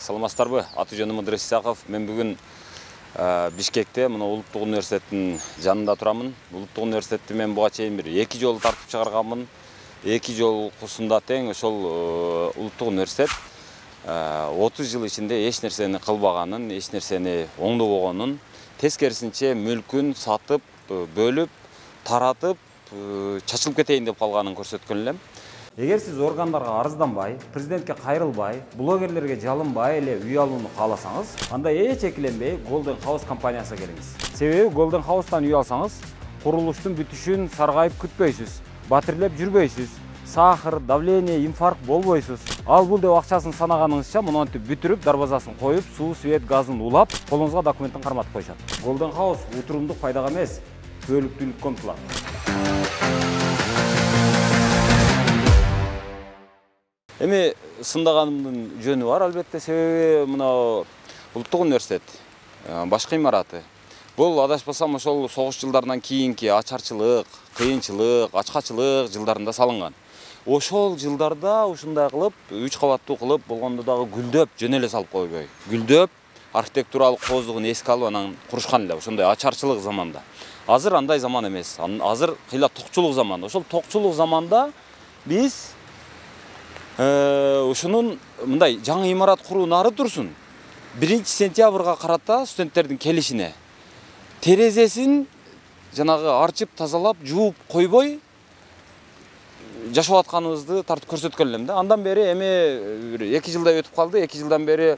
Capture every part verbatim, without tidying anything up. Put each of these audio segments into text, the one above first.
Саламатсыздарбы? Аты жөнүм Ыдырыс Исаков. Мен бүгүн Бишкекте, мына Улуттук университеттин жанында турамын. Улуттук университетти мен буга чейин бир эки жолу тартып чыгарганмын. Эки жолкусунда тең ошол Улуттук университет отуз жыл ичинде эч нерсени кылбаганын, эч нерсени оңдобогонун, тескерисинче мүлкүн сатып, бөлүп, таратып, чачылып кетейин деп калганын көрсөткөн элем. Эгер сиз органдарга арызданбай, президентке кайрылбай, блогерлерге жалынбай эле үй алууну кааласаңыз, анда эч экиленбей Golden House компаниясына келиңиз. Себеби Golden House'тан үй алсаңыз, курулуштун бүтүшүн саргайып күтпөйсүз, батирлеп жүрбөйсүз, сахар, давление, инфаркт болбойсуз. Ал бул деп акчасын санаганыңызча монтип бүтүрүп, дарбазасын коюп, суу, свет, газын улап, колуңузга документтин карматып коюшат. Golden House утурумдук пайдага эмес, түбөлүктүүлүккө умтулат. Эми сындаганымдын жөнү бар, албетте, себеби мына Улуттук университет башкы имараты. Бул адашпасам ошол согуш жылдарынан кийинки ачарчылык, кыйынчылык, ачкачылык жылдарында салынган. Ошол жылдарда ушундай кылып, үч кабаттуу кылып, болгондо дагы гүлдөп, жөн эле салып койбой. Гүлдөп, архитектуралык кооздугун эске алып анан курушкан эле, ошондой ачарчылык заманда. Азыр андай заман эмес. Азыр кыйла токчулук заман. Ошол токчулук заманда биз ушунун мындай жаңы имарат куруу нары турсун. биринчи сентябрга карата студенттердин келишине терезесин жанагы арчып, тазалап, жууп койбой жашап атканыбызды тартып көрсөткөн элем да. Андан бери эми эки жылдай өтүп калды. эки жылдан бери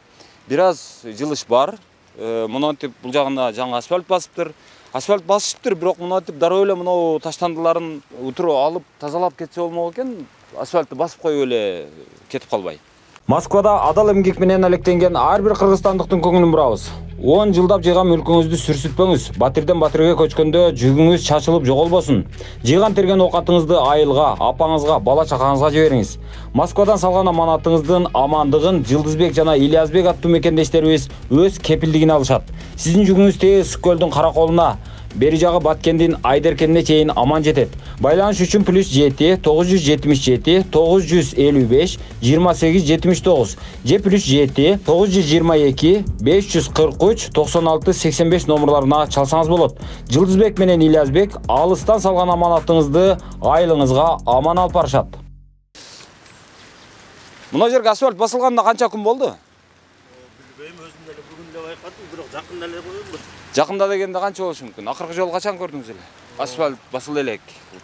бир аз жылыш бар. Монтип бул жагына жаңы асфальт басыптыр. Асфальт басышыптыр, бирок монтип дароо эле мынау таштандыларын утуруп алып, тазалап кетсе болмок экен. Асфальтты басып коюп эле кетип калбай. Москвада адал эмгек менен алектенген ар бир кыргызстандыктын көңүлүн бурабыз. он жылдап жыйган мүлкүңүздү сүрсүтпөңүз. Батирден батирге көчкөндө жүгүңүз чачылып жоголбосун. Жыйган терген оокатыңызды айылга, апаңызга, бала чакаңызга жибериңиз. Москвадан салган аманатыңыздын амандыгын Жылдызбек жана Ильязбек аттуу мекендештерибиз өз кепилдигине алышат. Сиздин жүгүңүз тээ ысык көлдүн караколуна, бери жагы Баткендин Айдеркенине чейин аман жетет. Байланыш үчүн плюс жети тогуз жүз жетимиш жети тогуз жүз элүү беш жыйырма сегиз жетимиш тогуз же плюс жети тогуз жүз жыйырма эки беш жүз кырк үч токсон алты сексен беш номерларына чалсаңыз болот. Жылдызбек менен Ильязбек алыстан салган аманатыңызды айылыңызга аман алып барышат. Мына жерге асфальт басылганына канча күн болду? Билбейм, өзүм деле бүгүн эле байкадым, бирок жакында эле койдум. Жакында дегенде канча болушу мүмкүн? Акыркы жолу качан көрдүңүз эле? Асфальт басыла элек.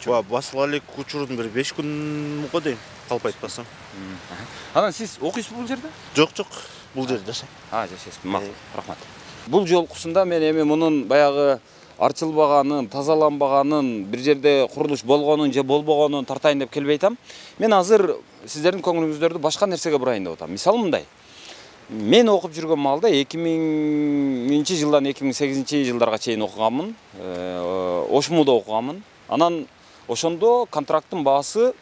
Ооба, басыла элек учурдун бир беш күн дейм, калп айтпасам. Анан сиз окуйсузбу бул жерде? Жок, жок. Бул жерде жашайм. А, жашайсызбы. Макул, рахмат. Бул жолкусунда мен эми мунун баягы арчылбаганын, тазаланбаганын, бир жерде курулуш болгонун же болбогонун тартайын деп келбей атам. Мен азыр сиздердин көңүлүңүздөрдү башка нерсеге бурайын деп атам. Мисалы мындай. Мен окуп жүргөн маалда эки миңинчи жылдан эки миң сегизинчи жылдарга чейин окуганмын. Ошмуда окуганмын. Анан ошондо контракттын баасы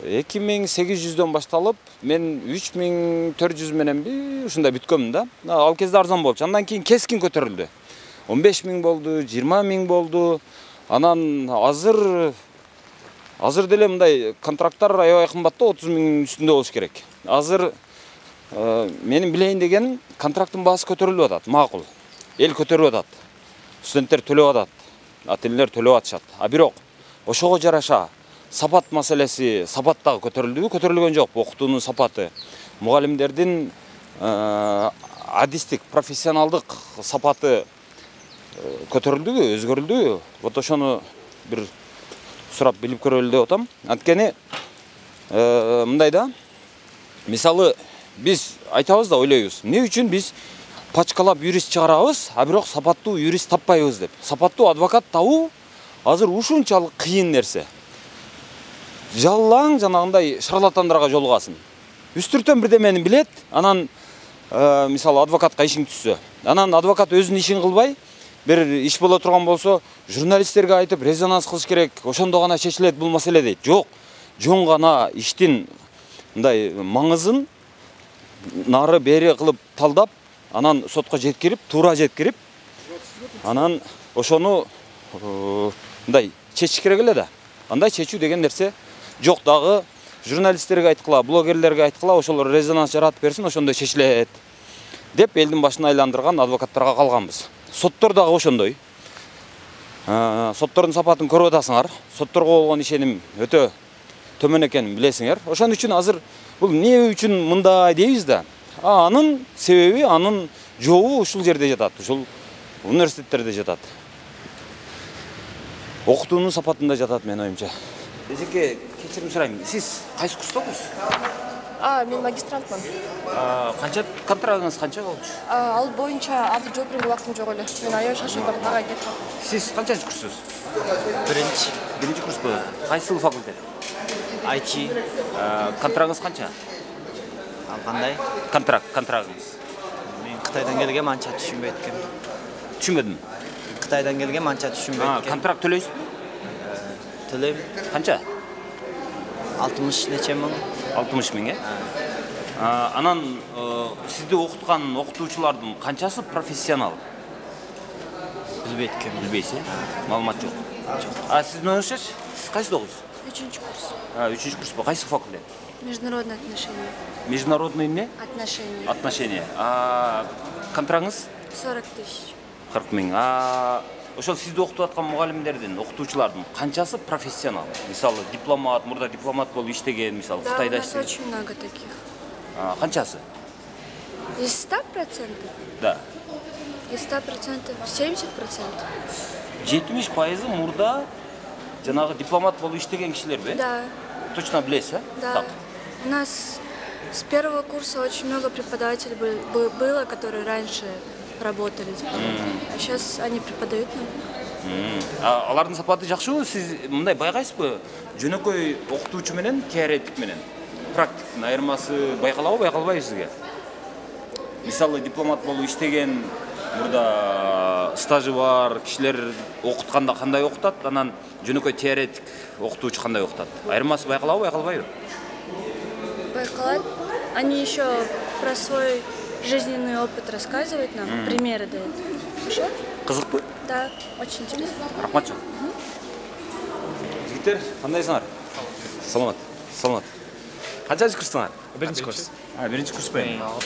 эки миң сегиз жүздөн башталып, мен үч миң төрт жүз мененби ушундай бүткөнмүн да. Ал кезде арзан болчу. Андан кийин кескин көтөрүлдү. он беш миң болду, жыйырма миң болду. Анан азыр азыр деле мындай контракттар аябай кымбаттуу, отуз миңдин үстүндө болуш керек. Азыр менин билейин дегеним, контракттын баасы көтөрүлүп атат, макул. Эл көтөрүп атат. Студенттер төлөп атат, ата-энелер төлөп атышат. А бирок ошого жараша сапат маселеси, сапат дагы көтөрүлдүбү? Көтөрүлгөн жок. Окутуунун сапаты, мугалимдердин адистик, профессионалдык сапаты көтөрүлдүбү, өзгөрүлдүбү? Вот ошону бир сурап билип көрөлү деп атам. Анткени мындай да, мисалы биз айтабыз да, ойлойбуз. Эмне үчүн биз пачкалап юрист чыгарабыз, а бирок сапаттуу юрист таппайбыз деп. Сапаттуу адвокат табуу азыр ушунчалык кыйын нерсе. Жаллаң жанагындай шарлатандарга жолугасың. Үстүртөн бирдемени билет, анан мисалы адвокатка ишиң түшсө, анан адвокат өзүнүн ишин кылбай, бир иш боло турган болсо, журналисттерге айтып резонанс кылыш керек, ошондо гана чечилет бул маселе дейт. Жок, жон гана иштин мындай маңызын нары бери кылып талдап, анан сотко жеткирип, туура жеткирип, анан ошону мындай чечиш керек эле да. Андай чечүү деген нерсе жок дагы. Журналисттерге айткыла, блогерлерге айткыла, ошолор резонанс жаратып берсин, ошондой чечилет. деп элдин башын айландырган адвокаттарга калганбыз. Соттор дагы ошондой. Соттордун сапатын көрүп атасыңар. Сотторго болгон ишеним өтө төмөн экенин билесиңер. Ошон үчүн азыр бул эмне үчүн мындай дейбиз да. Анын себеби, анын жообу ушул жерде жатат, ушул университеттерде жатат. Окутуунун сапатында жатат менин оюмча. Эжеке, кечирим сурайм. Сиз кайсы курстасыз? А, мен магистрантмын. Канча контрагыңыз канча болчу? Ал боюнча азыр жооп берүүгө убактым жок эле. Мен аябай шашып барып ага кеттим. Сиз канчанчы курссуз? Биринчи. Биринчи курспу? Кайсыл факультет? ай ти. Контрагыңыз канча? Ал кандай? Контракт, контрагыңыз. Мен Кытайдан келгем, анча түшүнбөйт экенмин. Түшүнбөдүм. Кытайдан келгем, анча түшүнбөйт экенмин. Контракт төлөйсүзбү? Төлөйм. Канча? алтымыш нече миң. алтымыш миң, э? Анан сизди окуткан окутуучулардын канчасы профессионал? Билбейт экенмин. Билбейсиз? Маалымат жок. Жок. А сиздин оюңузча, сиз кайсыда окуйсуз? Үчүнчү курс. А, үчүнчү курспу? Кайсы факультет? Международные отношения. Международный эмне? Отношения. Отношения. А контрагыңыз? сорок тысяч. кырк миң. А ошол сизди окутуп аткан мугалимдердин, окутуучулардын канчасы профессионал? Мисалы, дипломат, мурда дипломат болуп иштеген, мисалы, Кытайда иштеген. Да, у нас очень много таких. А, канчасы? Из ста процентов? Да. Из ста процентов семьдесят процентов. жетимиш пайызы мурда жанагы дипломат болуп иштеген кишилерби? Да. Точно билесиз, а? Да. Так. У нас с первого курса очень много преподавателей было, которые раньше работали. А сейчас они преподают нам. Алардын сапаты жакшыбы? Сиз мындай байкайсызбы? Жөнөкөй окутуучу менен теоретик менен практиктин айырмасы байкалабы, байкалбайбы сизге? Мисалы, дипломат болуп иштеген, мурда стажы бар кишилер окутканда кандай окутат, анан жөнөкөй теоретик окутуучу кандай окутат? Айырмасы байкалабы, байкалбайбы? Байкалат. Они еще про свой жизненный опыт рассказывают нам, mm. примеры дают. Хорошо? Кызыкпы? Да, очень интересно. Рахмат жок. Жигиттер, кандайсыңар? Саламат. Саламат. Канчанчы курстуңар? Биринчи курс. А, биринчи курспу?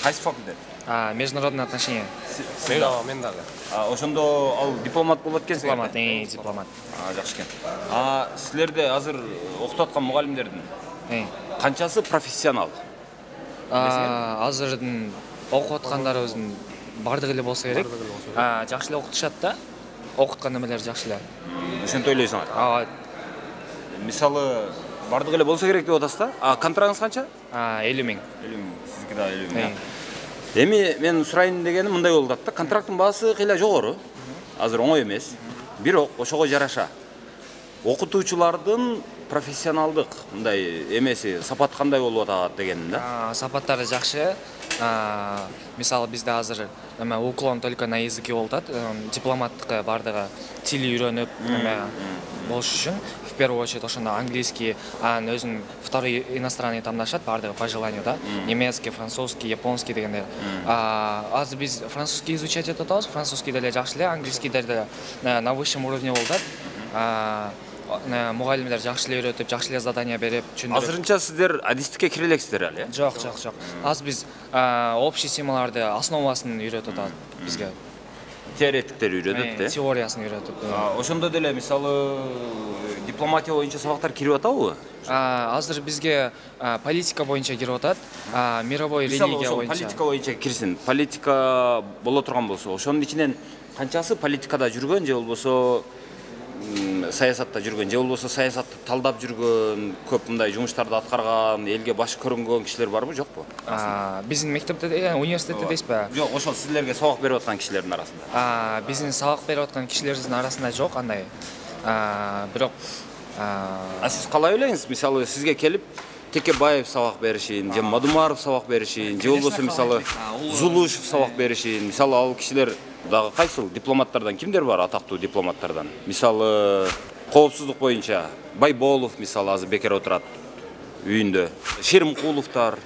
Кайсы факультет? А, международные отношения. Мен дагы. А, ошондо ал дипломат болот экенсиз? Дипломат, э, дипломат. А, жакшы экен. А, силерде азыр окутуп аткан мугалимдердин Э. канчасы профессионал? А, азырдын окуп аткандарыбыздын бардыгы эле болсо керек. А, жакшы эле окутушат да. Окуткан эмелер жакшы эле. Ошентип ойлойсуңар? А, мисалы, бардыгы эле болсо керек деп атасыз да? А, контрагыңыз канча? А, элүү миң. элүү миң. Сиздики да элүү миң. Эми мен сурайын дегеним мындай болуп атат да. Контракттын баасы кыйла жогору. Азыр оңой эмес. Бирок ошого жараша окутуучулардын профессионалдык мындай эмеси, сапат кандай болуп атат дегеним да. Сапаттары жакшы. Мисалы, бизде азыр эме уклон только на языке болуп атат. Дипломаттыкка бардыгы тил үйрөнүп, эме болуш үчүн в первую очередь ошондо английский, анан өзүнүн второй иностранный тамдашат бардыгы по желанию да. Немецкий, французский, японский дегенде. Азыр биз французский изучать этип атабыз. Французский деле жакшы эле, английский деле на высшем уровне болуп атат. Мугалимдер жакшы эле үйрөтүп, жакшы эле задание берип, түшүндүрүп. Азырынча сиздер адистикке кире элексиздер эле? Жок, жок, жок. Азыр биз общий темаларды основасын үйрөтүп атат бизге. Теоретиктер үйрөтөт да? Теориясын үйрөтүп. Ошондо деле мисалы дипломатия боюнча сабактар кирип атабы? Азыр бизге политика боюнча кирип атат, мировой религия боюнча. Политика боюнча кирсин. Политика боло турган болсо, ошонун ичинен канчасы политикада жүргөн же болбосо саясатта жүргөн, же болбосо саясатты талдап жүргөн, көп мындай жумуштарды аткарган, элге баш көрүнгөн кишилер барбы, жокпу? Биздин мектепте, университетте дейсизби? Жок, ошол силерге сабак берип аткан кишилердин арасында. Биздин сабак берип аткан кишилердин арасында жок андай. Бирок А сиз калай ойлойсуз? Мисалы, сизге келип Текебаев сабак беришин, же Мадумаров сабак беришин, же болбосо мисалы Зулушев сабак беришин. Мисалы, ал кишилер дагы кайсыл дипломаттардан кимдер бар, атактуу дипломаттардан? Мисалы, коопсуздук боюнча Байболов мисалы азыр бекер отурат үйүндө. Шеримкуловтар.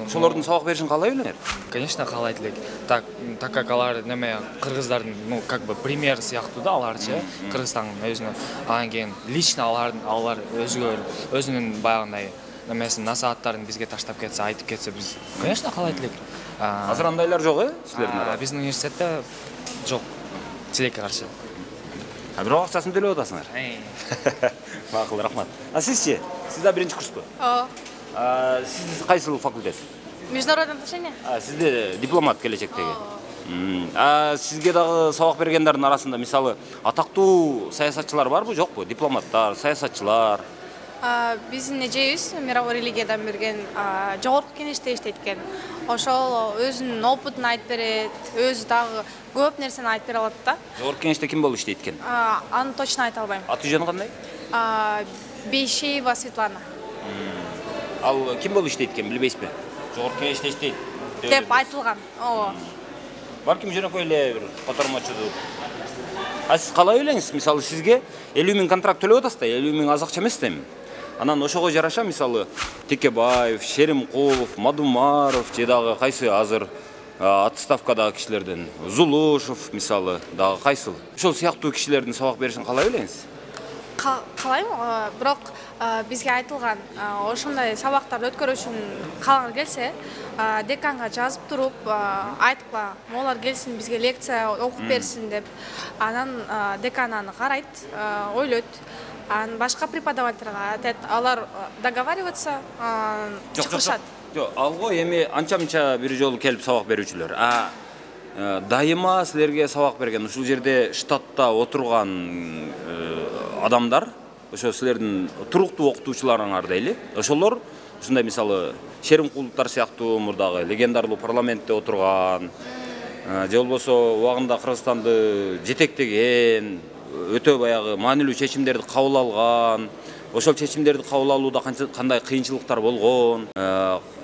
Ошолордун сабак беришин каалай белеңер? Конечно, каалайт элек. Так, так как алар неме кыргыздардын, ну, как бы пример сыяктуу да аларчы. Кыргызстандын өзүнүн, анан кийин лично алар алар өзгөр өзүнүн баягындай немесин насааттарын бизге таштап кетсе, айтып кетсе, биз, конечно, каалайт элек. Азыр андайлар жок, э, силердин арасында? Биздин университетте жок. Тилекке каршы. А бирок акчасын төлөп атасыңар. Макул, рахмат. А сизчи? Сиз да биринчи курспу? О, А сиз кайсыл факультет? международные отношения? А сизде дипломат келечектеги. А сизге дагы сабак бергендердин арасында мисалы атактуу саясатчылар барбы, жокпу? Дипломаттар, саясатчылар. Биздин эжебиз мировой религиядан берген жогорку кеңеште иштейт экен. Ошол өзүнүн опытын айтып берет, өзү дагы көп нерсени айтып бере алат да. Жогорку кеңеште ким болуп иштейт экен? Аны точно айта албайм. Аты жөнү кандай? Бейшеева Светлана. Ал ким болуп иштейт экен, билбейсизби? Жогорку кеңеште иштейт деп айтылган. Ооба. Балким жөнөкөй эле бир котормочудур. А сиз калай элеңиз? Мисалы сизге элүү миң контракт төлөп атасыз да, элүү миң аз акча эмес да эми. Анан ошого жараша мисалы Текебаев, Шеримкулов, Мадумаров же дагы кайсы азыр отставкадагы кишилерден, Зулушев мисалы дагы кайсыл? Ошол сыяктуу кишилердин сабак беришин калай элеңиз? Калайм, бирок бизге айтылган ошондой сабактарды өткөрүү үчүн калгыңар келсе, деканга жазып туруп айткыла, молар келсин бизге лекция окуп берсин деп. Анан декан аны карайт, ойлойт. Анан башка преподавательга айтат, алар договариваться, чыгышат. Жок, алго эми анча-мынча бир жолу келип сабак берүүчүлөр. А дайыма силерге сабак берген, ушул жерде штатта отурган адамдар, ошо силердин туруктуу окутуучуларыңар дейли. Ошолор ушундай мисалы Шеримкуловтар сыяктуу мурдагы легендарлуу парламентте отурган, же болбосо убагында Кыргызстанды жетектеген, өтө баягы маанилүү чечимдерди кабыл алган, ошол чечимдерди кабыл алууда кандай кыйынчылыктар болгон,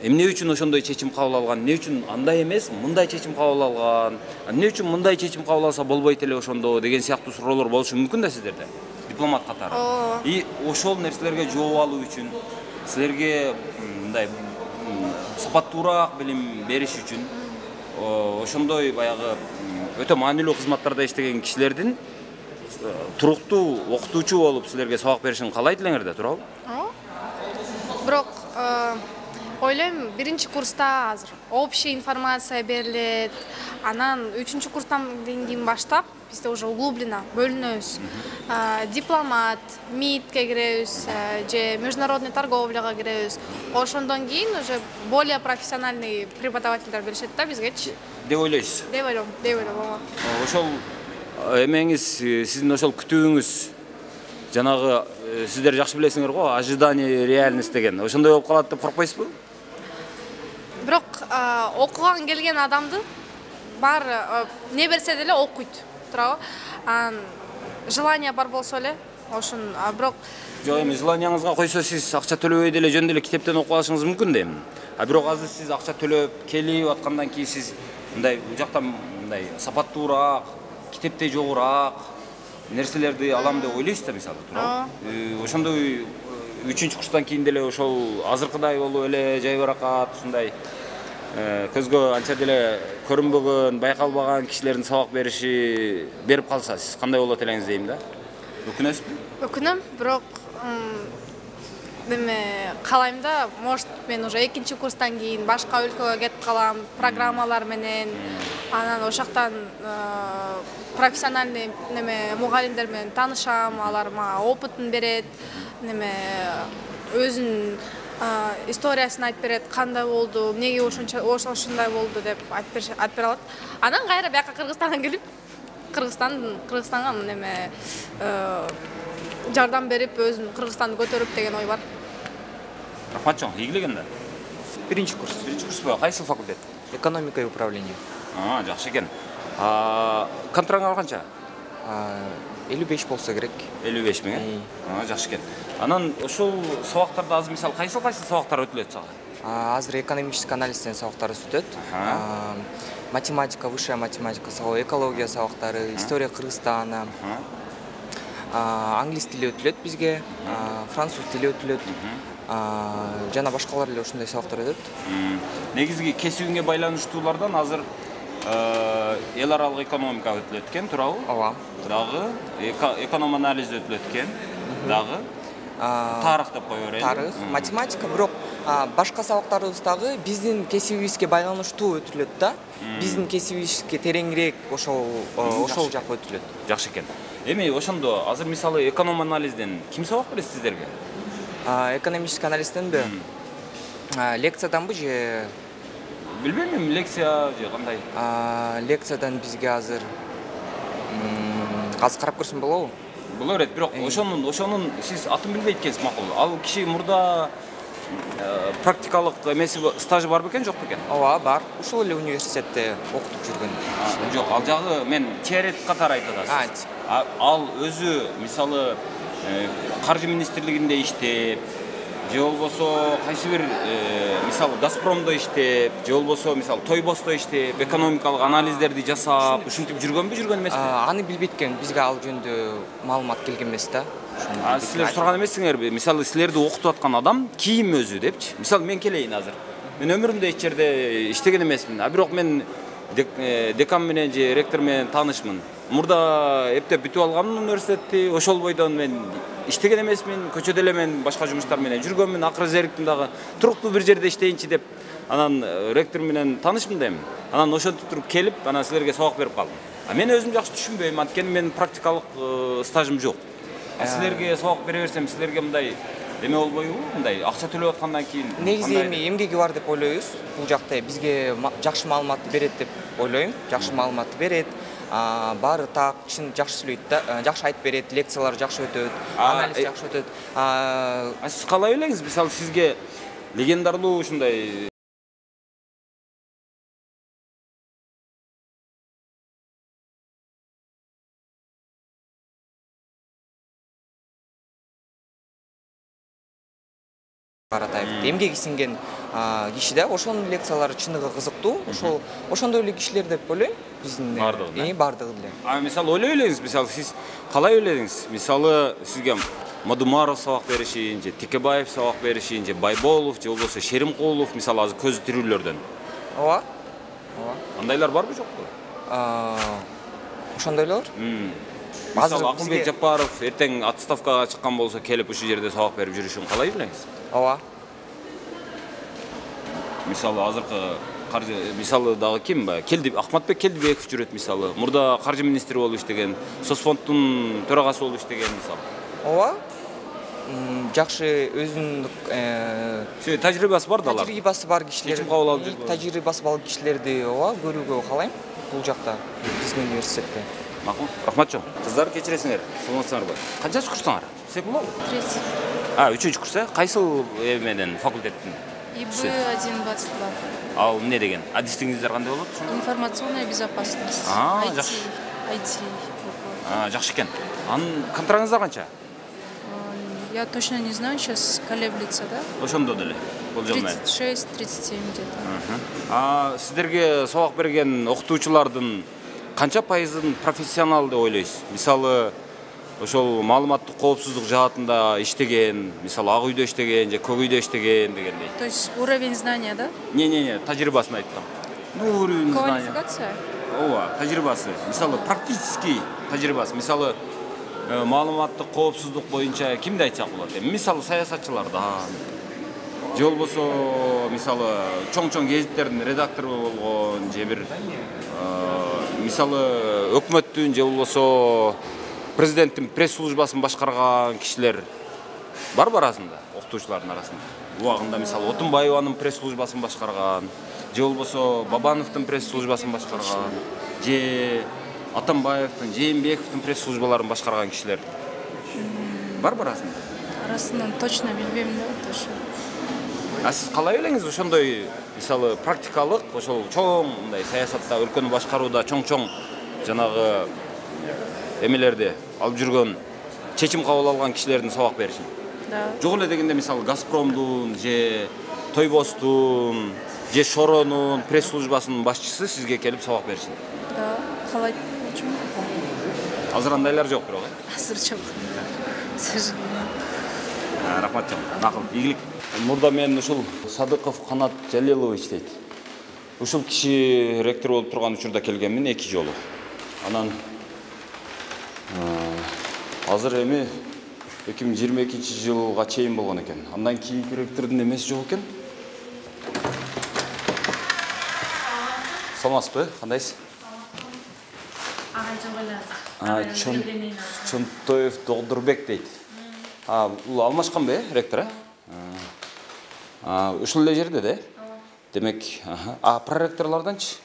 эмне үчүн ошондой чечим кабыл алган, эмне үчүн андай эмес, мындай чечим кабыл алган, эмне үчүн мындай чечим кабыл алса болбойт эле ошондо деген сыяктуу суроолор болушу мүмкүн да сиздерде, дипломат катары. И ошол нерселерге жооп алуу үчүн силерге мындай сапаттуураак билим бериш үчүн ошондой баягы өтө маанилүү кызматтарда иштеген кишилердин туруктуу окутуучу болуп силерге сабак беришин каалайт элеңер да, туурабы? Бирок ойлойм, биринчи курста азыр общая информация берилет. Анан үчүнчү курстан кийин баштап бизде уже углубленно бөлүнөбүз. Дипломат, МИДке киребиз, же международный торговляга киребиз. Ошондон кийин уже более профессиональный преподавательдер беришет да бизгечи. Деп ойлойсуз? Деп ойлойм, деп ойлойм. Ошол эмеңиз, сиздин ошол күтүүңүз жанагы сиздер жакшы билесиңер го, ожидание реальность деген. Ошондой болуп калат деп коркпойсузбу? Бирок окуган келген адамды бар не берсе деле окуйт, туурабы? Анан желание бар болсо эле, ошон бирок жок эми желанияңызга койсо сиз акча төлөбөй деле жөн деле китептен окуп алышыңыз мүмкүн да эми. А бирок азыр сиз акча төлөп келип аткандан кийин сиз мындай бул жактан мындай сапаттуураак, китепте жогураак нерселерди алам деп ойлойсуз да мисалы, туурабы? Ошондой үчүнчү курстан кийин деле ошол азыркыдай болуп эле жайбаракат ушундай көзгө анча деле көрүнбөгөн, байкалбаган кишилердин сабак бериши берип калса, сиз кандай болот элеңиз дейм да? Өкүнөсүзбү? Өкүнөм, бирок неме калайм да, может мен уже экинчи курстан кийин башка өлкөгө кетип калам, программалар менен, анан ошоктан профессиональный неме мугалимдер менен таанышам, алар мага опытын берет, неме өзүнүн историясын айтып берет, кандай болду, эмнеге ошончо ошондой болду деп айтып бере алат. Анан кайра бияка Кыргызстанга келип, Кыргызстан Кыргызстанга неме жардам берип, өзүн Кыргызстанды көтөрүп деген ой бар. Рахмат чоң, ийгилеген да. Биринчи курс. Биринчи курспу? Кайсы факультет? Экономика и управление. А, жакшы экен. Контрагыңар канча? элүү беш болсо керек. элүү беш миң, э? А, жакшы экен. Анан ошол сабактарда азыр мисалы кайсы кайсы сабактар өтүлөт сага? Азыр экономический анализден сабактар өтөт. Математика, высшая математика сабагы, экология сабактары, история Кыргызстана. Англис тили өтүлөт бизге, француз тили өтүлөт. Жана башкалар эле ушундай сабактар өтөт. Негизги кесибиңе байланыштуулардан азыр эл аралык экономика өтүлөт экен, туурабы? Ооба. Дагы эконом анализ өтүлөт экен, дагы тарых деп кое берели. Тарых, математика, бирок башка сабактарыбыз дагы биздин кесибибизге байланыштуу өтүлөт да. Биздин кесибибизге тереңирээк ошол ошол жак өтүлөт. Жакшы экен. Эми ошондо азыр мисалы эконом анализден ким сабак берет сиздерге? Экономический анализденби? Лекцияданбы же Билбейм, лекция же кандай? Лекциядан бизге азыр азыр карап көрсөм болобу? Боло берет, бирок ошонун ошонун сиз атын билбейт экенсиз макул. Ал киши мурда практикалык эмеси стажы бар бекен, жок бекен? Ооба, бар. Ушул эле университетте окутуп жүргөн. Жок, ал жагы мен теоретик катары айтып атасыз. Ал өзү мисалы каржы министрлигинде иштеп, же болбосо кайсы бир мисалы Газпромдо иштеп, же болбосо мисалы Тойбосто иштеп, экономикалык анализдерди жасап, ушинтип жүргөнбү, жүргөн эмеспи? Аны билбейт экен, бизге ал жөнүндө маалымат келген эмес да. А силер сураган эмессиңерби? Мисалы силерди окутуп аткан адам ким өзү депчи? Мисалы мен келейин азыр. Мен өмүрүмдө эч жерде иштеген эмесмин. А бирок мен декан менен же ректор менен таанышмын. Мурда эптеп бүтүп алганмын университетти. Ошол бойдон мен иштеген эмесмин. Көчөдө эле мен башка жумуштар менен жүргөнмүн. Акыры зериктим дагы туруктуу бир жерде иштейинчи деп анан ректор менен таанышмын дейм. Анан ошентип туруп келип, анан силерге сабак берип калдым. А мен өзүм жакшы түшүнбөйм, анткени менин практикалык стажым жок. А силерге сабак бере берсем, силерге мындай эме болбойбу? Мындай акча төлөп аткандан кийин негизи эми эмгеги бар деп ойлойбуз. Бул жакта бизге жакшы маалыматты берет деп ойлойм. Жакшы маалыматты берет. Баары так, чын жакшы сүйлөйт да, жакшы айтып берет, лекциялар жакшы өтөт, анализ жакшы өтөт. А сиз калай элеңиз? Мисалы сизге легендарлуу ушундай Каратаев эмгеги сиңген киши да, ошонун лекциялары чыныгы кызыктуу. Ошол ошондой эле кишилер деп ойлойм. Биздин бардыгы. Э, бардыгы эле. А мисалы ойлой элеңиз, мисалы сиз калай ойлодуңуз? Мисалы сизге Мадумаров сабак беришин, же Текебаев сабак беришин, же Байболов, же болбосо Шеримкулов, мисалы азыр көзү тирүүлөрдөн. Ооба. Ооба. Андайлар барбы, жокпу? Ошондойлор? Мисалы Акылбек Жапаров эртең отставкага чыккан болсо келип ушул жерде сабак берип жүрүшүн калай билеңиз? Ооба. Мисалы азыркы каржы мисалы дагы ким? Келди Акматбек Келдибеков жүрөт мисалы. Мурда каржы министри болуп иштеген, Соцфонддун төрагасы болуп иштеген мисалы. Ооба. Жакшы өзүнүн э тажрыйбасы бар да алар. Тажрыйбасы бар кишилер. Чечим кабыл алып жүргөн. Тажрыйбасы бар кишилерди ооба көрүүгө каалайм бул жакта биздин университетте. Макул. Рахмат жок. Кыздар кечиресиңер. Саламатсыңарбы? Канчанчы курсуңар? Секулабы? Третий. А, үчүнчү курс, э? Кайсыл менен факультеттин? И Б один двадцать два. Ал эмне деген? Адистиңиздер кандай болот? Информационная безопасность. А, ай ти. жакшы. ай ти. А, жакшы экен. Анын контрагыңыздар канча? Я точно не знаю, сейчас колеблется, да? Ошондо деле. тридцать шесть тридцать семь где-то. А сиздерге сабак берген окутуучулардын канча пайызын профессионал деп ойлойсуз? Мисалы, ошол маалыматтык коопсуздук жаатында иштеген, мисалы ак үйдө иштеген же көк үйдө иштеген дегендей. То есть уровень знания, да? Не-не-не, тажрыйбасын айттым. Ну, уровень знания. Квалификация? Ооба, тажрыйбасы. Мисалы, практический тажрыйбасы. Мисалы, маалыматтык коопсуздук боюнча кимди айтсак болот? Мисалы, саясатчылардан. Же болбосо, мисалы, чоң-чоң гезиттердин редактору болгон, же бир мисалы, өкмөттүн же болбосо президенттин пресс-службасын башкарган кишилер барбы арасында, окутуучулардын арасында? Убагында мисалы Отунбаеванын пресс-службасын башкарган, же болбосо Бабановдун пресс-службасын башкарган, же Атамбаевдин, Жээнбековдун пресс-службаларын башкарган кишилер барбы арасында? Арасынан точно билбейм да, точно. А сиз калай элеңиз ошондой мисалы практикалык, ошол чоң мындай саясатта, өлкөнү башкарууда чоң-чоң жанагы эмелерди алып жүргөн, чечим кабыл алган кишилердин сабак беришин? Да. Жок эле дегенде мисалы Газпромдун же Тойбостун же Шоронун пресс-службасынын башчысы сизге келип сабак беришин? Да, калай. Азыр андайлар жок бирок, э? Азыр жок. К сожалению. Рахмат жок. Макул, ийгилик. Мурда мен ушул Садыков Канат Жалилович дейт. Ушул киши ректор болуп турган учурда келгенмин эки жолу. Анан азыр эми эки миң жыйырма экинчи жылга чейин болгон экен. Андан кийинки ректордун эмеси жок экен. Саламатсызбы? Кандайсыз? Чонтоев Догдурбек дейт. А, бул алмашканбы, ректор, э? А, ушул эле жерде да? Демек, а проректорлордончу?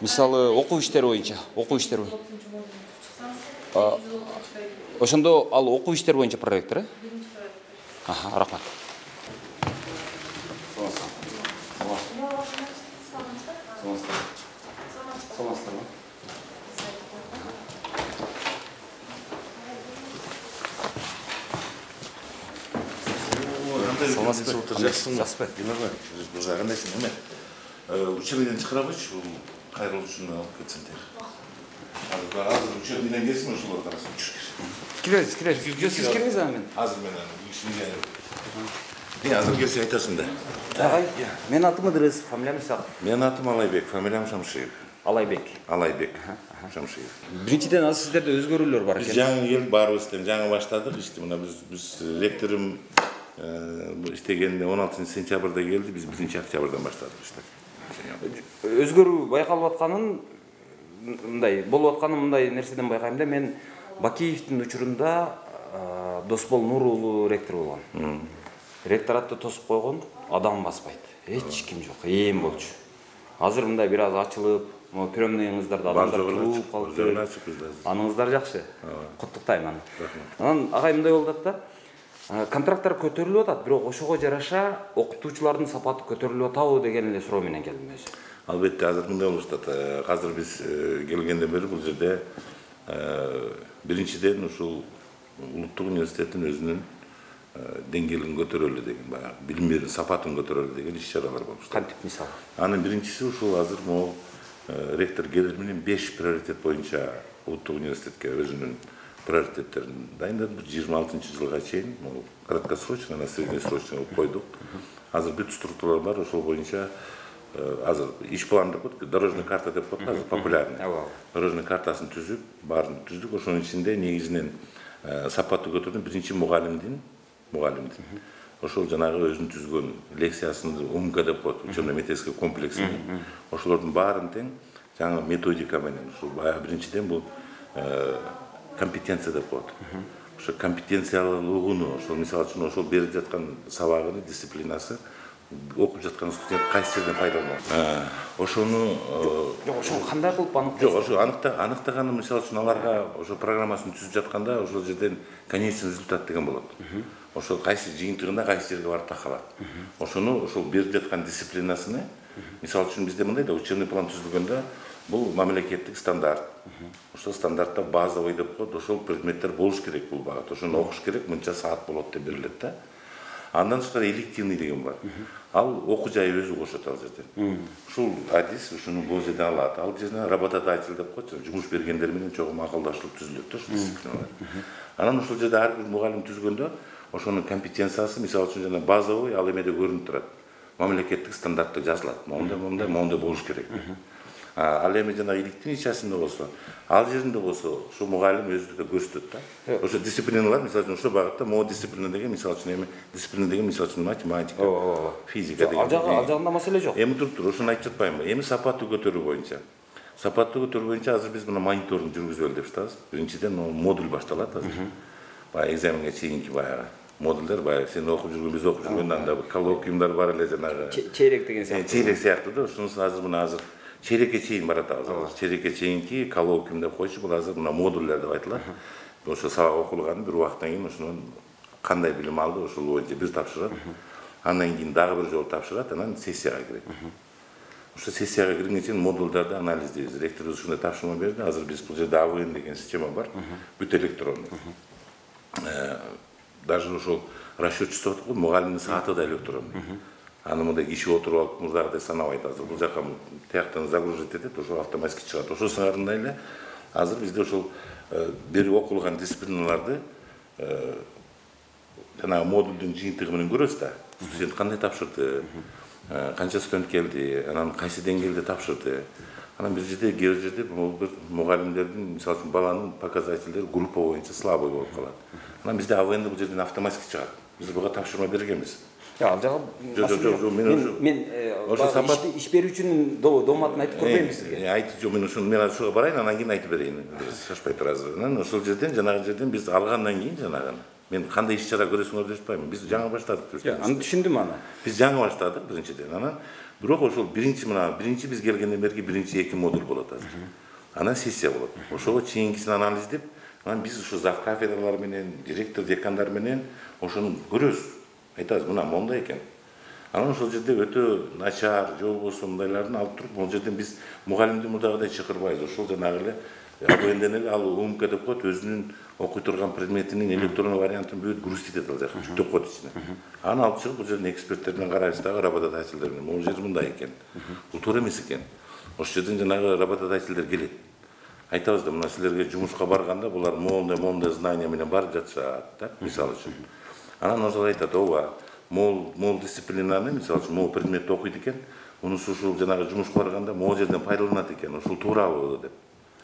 Мисалы, окуу иштери боюнча, окуу иштери боюнча. Ошондо ал окуу иштери боюнча проректор, э? Аха, рахмат. Жақсы. Бұл жағындайсың, еме? Учебеден шығырабайшы, бұл қайрылы үшін алып кетсіңдер. Азыр учебеден келсің, ұшылар қарасын, үшкер. Кіреріз, кіреріз. Сіз кіріңіз амен? Азыр мен ішімге мен азыр келсе айтасың да. Ағай, мен атым Ыдырыс, фамилиям Исақов. Мен атым Алайбек, фамилиям Шамшиев. Алайбек. Алайбек, Шамшиев. Биринчиден азыр сиздерде өзгөрүүлөр бар экен. Жаңы ел барыбызден жаңы баштадық, ишти мына біз ректорым иштегенде он алтынчы сентябрда келди, биз биринчи октябрдан баштадык ишти. Өзгөрүү байкалып атканын мындай болуп атканын мындай нерседен байкайм да, мен Бакиевдин учурунда Досбол Нур уулу ректор болгон. Ректоратты тосуп койгон, адам баспайт. Эч ким жок, ээн болчу. Азыр мындай бир аз ачылып, могу приемныйыңыздарда адамдар туруп калыптыр. Аныңыздар жакшы. Куттуктайм аны. Анан агай мындай болуп атат да. Контракттар көтөрүлүп атат, бирок ошого жараша окутуучулардын сапаты көтөрүлүп атабы деген эле суроо менен келдим өзү. Албетте азыр мындай болуп атат. Азыр биз келгенден бери бул жерде биринчиден ушул улуттук университеттин өзүнүн деңгээлин көтөрөлү деген, баягы билим берүү сапатын көтөрөлү деген иш-чаралар болуп. Кантип мисалы? Анын биринчиси ушул азыр могу ректор Гедер менен беш приоритет боюнча улуттук университетке өзүнүн приоритеттерин дайындап, жыйырма алтынчы жылга чейин могу краткосрочно, на среднесрочно кылып койдук. Азыр бүт структуралар бар, ошол боюнча азыр иш план деп коет, дорожный карта деп коет, азыр популярный. Дорожный картасын түзүп, баарын түздүк. Ошонун ичинде негизинен сапатты көтөрдүн биринчи мугалимдин, мугалимдин. Ошол жанагы өзүнүн түзгөн лекциясын умка деп коет, учебно-методический комплексин. Ошолордун баарын тең жаңы методика менен, ушул баягы биринчиден бул компетенция деп коет. Ошо компетенциялуулугуну, ошол мисалы үчүн ошол берип жаткан сабагынын дисциплинасы окуп жаткан студент кайсы жерден пайдаланат. Ошону жок, ошону кандай кылып аныктайсыз? Жок, ошо аныктаганы мисалы үчүн аларга ошо программасын түзүп жатканда ошол жерден конечный результат деген болот. Ошол кайсы жыйынтыгында кайсы жерге барып такалат. Ошону ошол берип жаткан дисциплинасыны мисалы үчүн бизде мындай да учебный план түзүлгөндө бул мамлекеттик стандарт. Ошол стандартта базовый деп коет, ошол предметтер болуш керек бул багат. Ошону окуш керек, мынча саат болот деп берилет да. Андан тышкары элективный деген бар. Ал окуу жайы өзү кошот ал жерден. Ушул адис ушуну бул жерден алат. Ал жерден работодатель деп коет, жумуш бергендер менен чогуу акылдашып түзүлөт да ушул дисциплиналар. Анан ушул жерде ар бир мугалим түзгөндө ошонун компетенциясы мисалы үчүн жана базовый ал эмеде көрүнүп турат. Мамлекеттик стандартта жазылат. Мондай, мондай, мондай болуш керек. Ал эми жана иликтин ичасында болсо, ал жеринде болсо, ошо мугалим өзү да көрсөтөт да. Ошо дисциплиналар, мисалы үчүн ошо багытта могу дисциплина деген, мисалы үчүн эми дисциплина деген, мисалы үчүн математика, физика деген. Ал жагында маселе жок. Эми туруп тур, ошону айтып жатпаймынбы? Эми сапатты көтөрүү боюнча. Сапатты көтөрүү боюнча азыр биз мына мониторинг жүргүзөлү деп жатабыз. Биринчиден модуль башталат азыр. Баягы экзаменге чейинки баягы модулдар, баягы сен окуп жүргөн, биз окуп жүргөн анда коллоквиумдар бар эле жанагы. Чейрек деген сыяктуу. Чейрек сыяктуу да, ошонусу азыр мына азыр чейрекке чейин баратабыз. Азыр чейрекке чейинки коллоквиум деп койчу, бул азыр мына модулдар деп айтылат. Ошо сабак окулганын бир убакыттан кийин ошонун кандай билим алды, ошол боюнча бир тапшырат. Андан кийин дагы бир жолу тапшырат, анан сессияга кирет. Ошо сессияга киргенге чейин модулдарды анализдейбиз. Ректорубуз ушундай тапшырма берди. Азыр биз бул жерде АВН деген система бар. Бүт электронный. Даже ошол расчетчиство деп коет, мугалимдин сааты да электронный. Аны мындай киши отуруп алып мурдагыдай санабайт. Азыр бул жака тияктан загружать этет, ошо автоматически чыгат. Ошо сыңарындай эле азыр бизде ошол берип окулган дисциплиналарды жанагы модулдун жыйынтыгы менен көрөбүз да. Студент кандай тапшырды, канча студент келди, анан кайсы деңгээлде тапшырды. Анан бир жерде, кээ бир жерде бул бир мугалимдердин, мисалы үчүн баланын показательдери группа боюнча слабый болуп калат. анан бизде АВН бул жерден автоматически чыгат. Биз буга тапшырма бергенбиз. Ал жагы Жок, жок, жок, мен мен иш берүүчүнүн дооматын айтып көрбөйм сизге. Айтып жок, мен ушуну мен ушуга барайын, анан кийин айтып берейин. Шашпай турасыз. Анан ошол жерден жанагы жерден биз алгандан кийин жанагы мен кандай иш чара көрөсүңөр деп атпаймын. Биз жаңы баштадык. Аны түшүндүм аны. Биз жаңы баштадык биринчиден. Анан бирок ошол биринчи мына биринчи биз келгенден берки биринчи эки модуль болот азыр. Анан сессия болот. Ошого чейинкисин анализдеп, анан биз ушу зав кафедралар менен, директор, декандар менен ошону көрөбүз. Айтабыз, мына мондай экен. Анан ошол жерде өтө начар, же болбосо мындайларын алып туруп, бул жерден биз мугалимди мурдагыдай чакырбайбыз. Ошол жанагы эле АВНден эле ал УМК деп коет, өзүнүн окуй турган предметинин электрондук вариантын бүт грузить этет ал жака, жүктөп коет ичине. Аны алып чыгып, бул жерден эксперттер менен карайбыз дагы, работодательдер менен. Бул жер мындай экен. Бул туура эмес экен. Ошол жерден жанагы работодательдер келет. Айтабыз да, мына силерге жумушка барганда булар моундай моундай знания менен барып жатышат, да, мисалы үчүн. Анан ошол айтат, ооба, мол мол дисциплинаны, мисалы үчүн, мол предметти окуйт экен, мунусу ушул жанагы жумушка барганда могу жерден пайдаланат экен, ушул туурабы деп.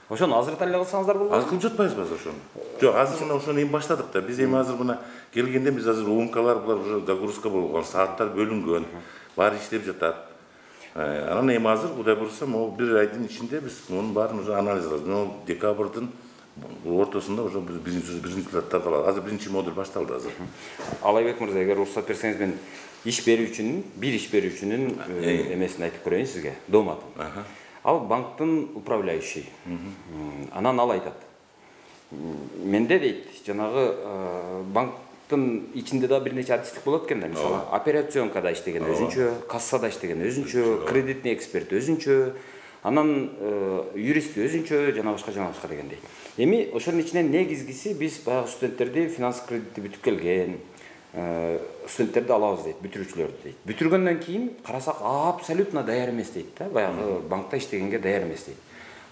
Ошону азыр эле кылсаңыздар болбойбу? Азыр кылып жатпайбызбы азыр ошону? Жок, азыр мына ошону эми баштадык да. Биз эми азыр мына келгенде биз азыр УМКлар булар уже загрузка болгон, сааттар бөлүнгөн, баары иштеп жатат. Анан эми азыр кудай буюрса, могу бир айдын ичинде биз мунун баарын уже анализ кылабыз. Мына декабрдын ортосунда уже биз биринчи результаттарды алабыз. Азыр биринчи модуль башталды азыр. Алайбек мырза, эгер уруксат берсеңиз, мен иш берүүчүнүн, бир иш берүүчүнүн эмесин айтып көрөйүн сизге, дооматын. Ал банктын управляющий. Анан ал айтат. Менде дейт, жанагы банктын ичинде да бир нече адистик болот экен да, мисалы, операционкада иштеген өзүнчө, кассада иштеген өзүнчө, кредитный эксперт өзүнчө, анан юрист өзүнчө, жана башка жана башка дегендей. Эми ошонун ичинен негизгиси биз баягы студенттерди финанс кредитти бүтүп келген студенттерди алабыз дейт, бүтүрүүчүлөрдү дейт. Бүтүргөндөн кийин карасак абсолютно даяр эмес дейт да, баягы банкта иштегенге даяр эмес дейт.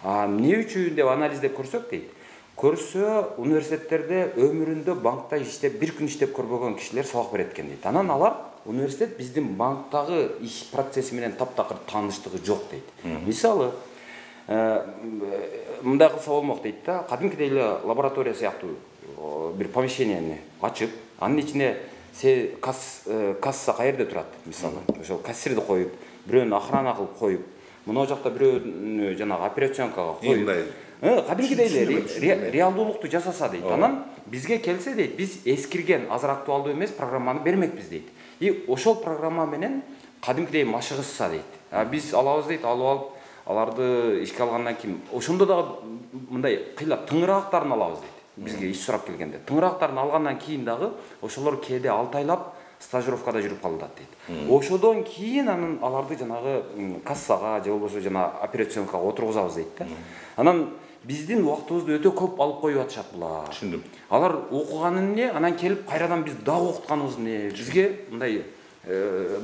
А эмне үчүн деп анализдеп көрсөк дейт. Көрсө университеттерде өмүрүндө банкта иштеп, бир күн иштеп көрбөгөн кишилер сабак берет экен дейт. Анан алар университет биздин банктагы иш процесси менен таптакыр тааныштыгы жок дейт. Мисалы, мындай кылса болмок дейт да, кадимкидей эле лаборатория сыяктуу бир помещенияны ачып, анын ичине касса каерде турат, мисалы, ошол кассирди коюп, бирөөнү охрана кылып коюп, мына жакта бирөөнү жанагы операционкага коюп, кадимкидей эле реалдуулукту жасаса дейт. Анан бизге келсе дейт, биз эскирген, азыр актуалдуу эмес программаны бермекпиз дейт. И ошол программа менен кадимкидей машыгышса дейт. Биз алабыз дейт, алып алып, аларды ишке алгандан кийин ошондо дагы мындай кыйлап тыңыраактарын алабыз дейт. Бизге иш сурап келгенде. Тыңыраактарын алгандан кийин дагы ошолор кээде алты айлап стажировкада жүрүп калат дейт. Ошодон кийин анан аларды жанагы кассага же болбосо жана операционкага отургузабыз дейт да. Анан биздин убактыбызды өтө көп алып коюп атышат булар. Түшүндүм. Алар окуганы эмне, анан келип кайрадан биз дагы окутканыбыз эмне? Бизге мындай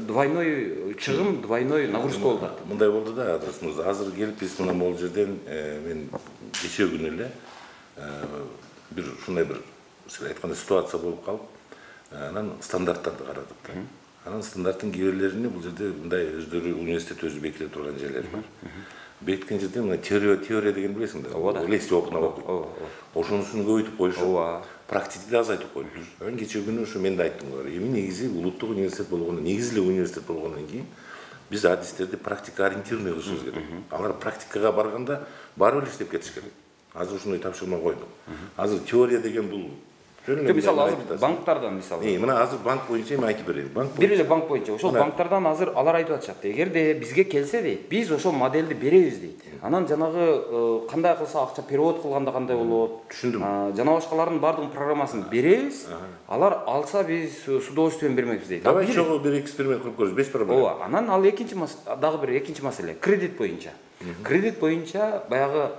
двойной чыгым, двойной нагрузка болду. Мындай болду да, адресimiz. Азыр келип биз мына могул жерден мен кечээ күнү эле бир ушундай бир сиз айткандай ситуация болуп калып, анан стандарттарды карадык да. Анан стандарттын кээ бирлерини бул жерде мындай өздөрү университет өзү бекитип турган жерлер бар. Бекиткен жерде мына теория теория деген билесиң да. Лести окуна окуйт. Ошонусун көбөйтүп коюшуп, практикти азайтып коюптур. Анан кечээ күнү ушу мен да айттым булар. Эми негизи улуттук университет болгондон, негизи эле университет болгондон кийин биз адистерди практика ориентированный кылышыбыз керек. Алар практикага барганда баары бир иштеп кетиш керек. Азыр ушундай тапшырма койдук. Азыр теория деген бул мисалы азыр банктардан мисалы. Э, мына азыр банк боюнча эми айтып берейин. Банк бир эле банк боюнча. Ошол банктардан азыр алар айтып атышат. Эгерде бизге келсе дейт, биз ошол моделди беребиз дейт. Анан жанагы кандай кылса акча перевод кылганда кандай болот? Түшүндүм. Жана башкалардын баардык программасын беребиз. Алар алса биз с удовольствием бермекпиз дейт. Давай чогуу бир эксперимент кылып көрөбүз, без проблем. Ооба, анан ал экинчи дагы бир экинчи маселе, кредит боюнча. Кредит боюнча баягы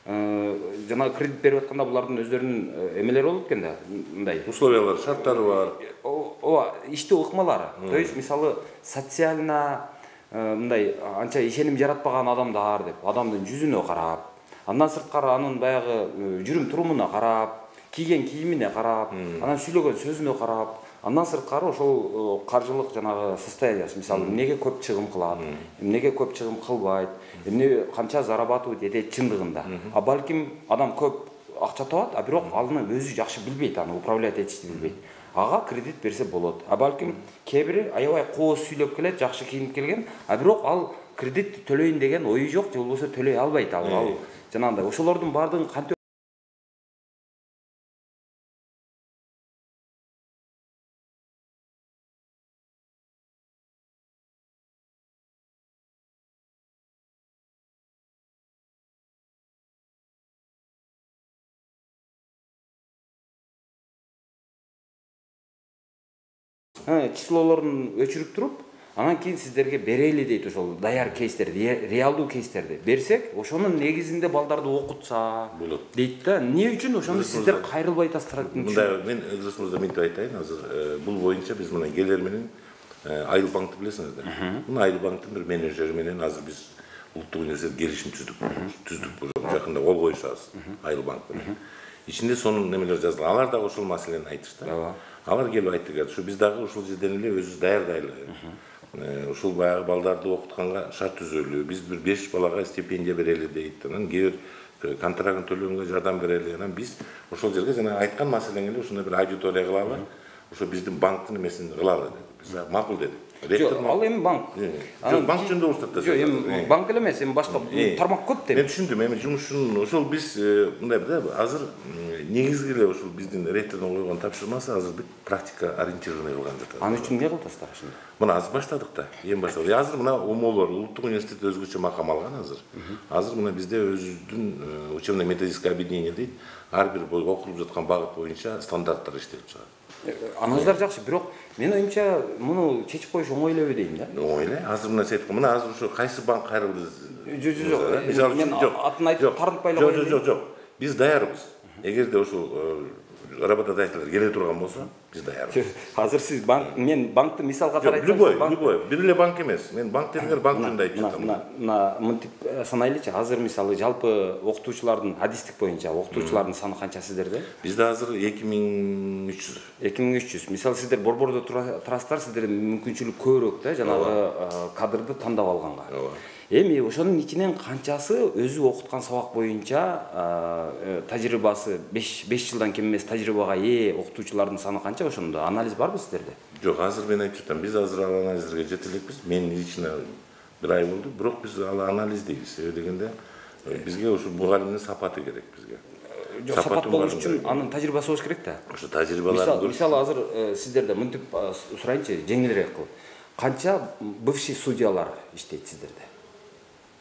жана кредит берип атканда булардын өздөрүнүн эмелери болот экен да, мындай условиялар, шарттары бар. Ооба, иштөө ыкмалары. То есть мисалы социально мындай анча ишеним жаратпаган адамдар деп, адамдын жүзүнө карап, андан сырткары анын баягы жүрүм турумуна карап, кийген кийимине карап, анан сүйлөгөн сөзүнө карап, андан сырткары ошол каржылык жанагы состояниясы, мисалы, эмнеге көп чыгым кылат, эмнеге көп чыгым кылбайт, эмне канча зарабатывать этет чындыгында. А балким адам көп акча табат, а бирок аны өзү жакшы билбейт, аны управлять этишти билбейт. Ага кредит берсе болот. А балким кээ бири аябай кооз сүйлөп келет, жакшы кийинип келген, а бирок ал кредитти төлөйүн деген ою жок, же болбосо төлөй албайт ал. Ал жанагындай ошолордун баардыгын кантип числолорун өчүрүп туруп, анан кийин сиздерге берели дейт, ошол даяр кейстерди, реалдуу кейстерди берсек, ошонун негизинде балдарды окутса болот дейт да. Эмне үчүн ошону сиздер кайрылбай атасыздар? Мында мен Ыдырыс мырза мынтип айтайын, азыр бул боюнча биз мына келер менен Айыл банкты билесиңиздер. Мына Айыл банктын бир менеджери менен азыр биз улуттук университет келишим түздүк. Түздүк жакында кол коюшабыз Айыл банк менен. Ичинде сонун немелер жазылган. Алар дагы ошол маселени айтышты. Алар келип айттык, ушу биз дагы ушул жерден эле өзүбүз даярдайлы. Ушул баягы балдарды окутканга шарт түзөлү. Биз бир беш балага стипендия берели дейт. Анан кээ бир контрактын төлөгөнгө жардам берели. Анан биз ошол жерге жана айткан маселеңи эле ушундай бир аудитория кылалы. Ошо биздин банктын эмесин кылалы деди. Биз макул дедик. Жок, ал эми банк. Жок, банк жөнүндө уруксатта. Жок, эми банк эле эмес, эми башка тармак көп деп. Мен түшүндүм, эми жумушун ошол биз мындай да, азыр негизги эле ошол биздин ректордун койгон тапшырмасы азыр бит практика ориентированный кылган жатат. Аны үчүн эмне кыласыздар ошондо? Мына азыр баштадык да, эми баштадык. Азыр мына омолор, улуттук университет өзгөчө макам алган азыр. Азыр мына бизде өзүбүздүн учебно методическое объединение дейт. Ар бир окулуп жаткан багыт боюнча стандарттар иштелип чыгат. Аныңыздар жакшы, бирок мен оюмча муну чечип коюш оңой эле дейм да. Оңой эле. Азыр мына сен айткан, мына азыр ушу кайсы банк кайрылды? Жок, жок, жок. Мен атын айтып тартпай эле коюм. Жок, жок, жок. Биз даярбыз. Эгерде ошол работодатель келе турган болсо, биз даярбыз. Азыр сиз банк, мен банкты мисалга карайсыз. Любой, любой. Бир эле банк эмес. Мен банк дегендер банк жөнүндө айтып жатам. Мына мынтип санайлычы, азыр мисалы жалпы окутуучулардын адистик боюнча окутуучулардын саны канча сиздерде? Бизде азыр эки миң үч жүз. эки миң үч жүз. Мисалы сиздер борбордо турасыздар, сиздерде мүмкүнчүлүк көбүрөөк да, жанагы кадрды тандап алганга. Эми ошонун ичинен канчасы өзү окуткан сабак боюнча тажрыйбасы беш жылдан кем эмес тажрыйбага ээ окутуучулардын саны канча, ошондо анализ барбы сиздерде? Жок, азыр мен айтып жатам, биз азыр ал анализдерге жете элекпиз. Мен лично бир ай болду, бирок биз ал анализдейбиз. Себеби дегенде бизге ошо мугалимдин сапаты керек бизге. Жок, сапат болуш үчүн анын тажрыйбасы болуш керек да. Ошо тажрыйбаларды мисалы азыр сиздерде мынтип сурайынчы, жеңилирээк кылып. Канча бывший судьялар иштейт сиздерде?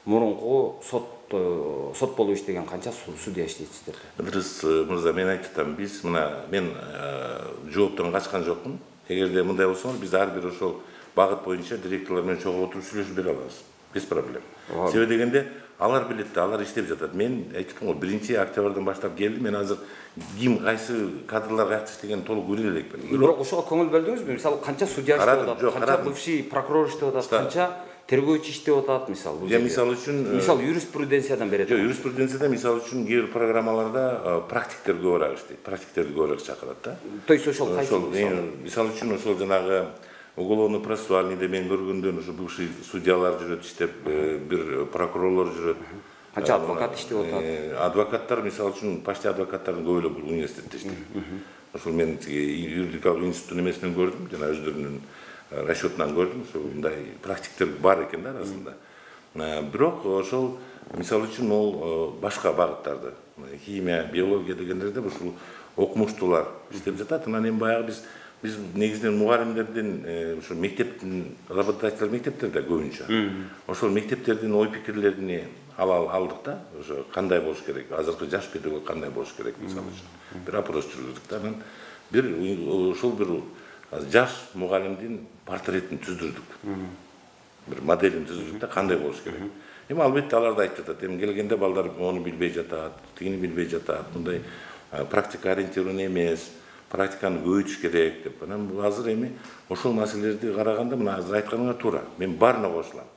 Мурунку сот сот болуп иштеген канча судья иштейт сиздерде? Ыдырыс мырза, мен айтып жатам, биз мына мен жооптон качкан жокмун. Эгерде мындай болсо, биз ар бир ошол багыт боюнча директорлор менен чогуу отуруп сүйлөшүп бере алабыз. Без проблем. Себеби дегенде алар билет да, алар иштеп жатат. Мен айтып жатам го, биринчи октябрдан баштап келдим. Мен азыр ким кайсы кадрлар каякта иштеген толук көрө элекмин. Бирок ошого көңүл бөлдүңүзбү? Мисалы канча судья иштеп атат, канча бывший прокурор иштеп атат, канча тергөөчү иштеп атат, мисалы. Я мисалы үчүн мисалы юриспруденциядан берет. Жок, юриспруденцияда мисалы үчүн кээ бир программаларда практиктер көбүрөөк иштейт. Практиктерди көбүрөөк чакырат да. То есть ошол кайсы? Мисалы үчүн ошол жанагы уголовно-процессуальныйда мен көргөндөн ошо бывший судьялар жүрөт иштеп, бир прокурорлор жүрөт. Канча адвокат иштеп атат? Адвокаттар мисалы үчүн почти адвокаттардын көбү эле бул университетте иштейт. Ошол мен юридикалык институттун эмесинен көрдүм, жана өздөрүнүн расчетунан көрдүм, ошо мындай практиктер бар экен да арасында. Бирок ошол мисалы үчүн ол башка багыттарды, химия, биология дегендерде ушул окумуштуулар иштеп жатат. Анан эми баягы биз биз негизинен мугалимдердин ошо мектептин работодатель мектептерде көбүнчө. Ошол мектептердин ой пикирлерин ала алдык да, ошо кандай болуш керек, азыркы жаш педагог кандай болуш керек мисалы үчүн. Бир опрос жүргүздүк да, анан бир ошол бир жаш мугалимдин портретин түздүрдүк. Бир моделин түздүрдүк да, кандай болуш керек. Эми албетте алар да айтып жатат, эми келгенде балдар ону билбей жатат, тигини билбей жатат, мындай практика ориентированный эмес, практиканы көбөйтүш керек деп. Анан азыр эми ошол маселелерди караганда мына азыр айтканыңар туура. Мен баарына кошулам.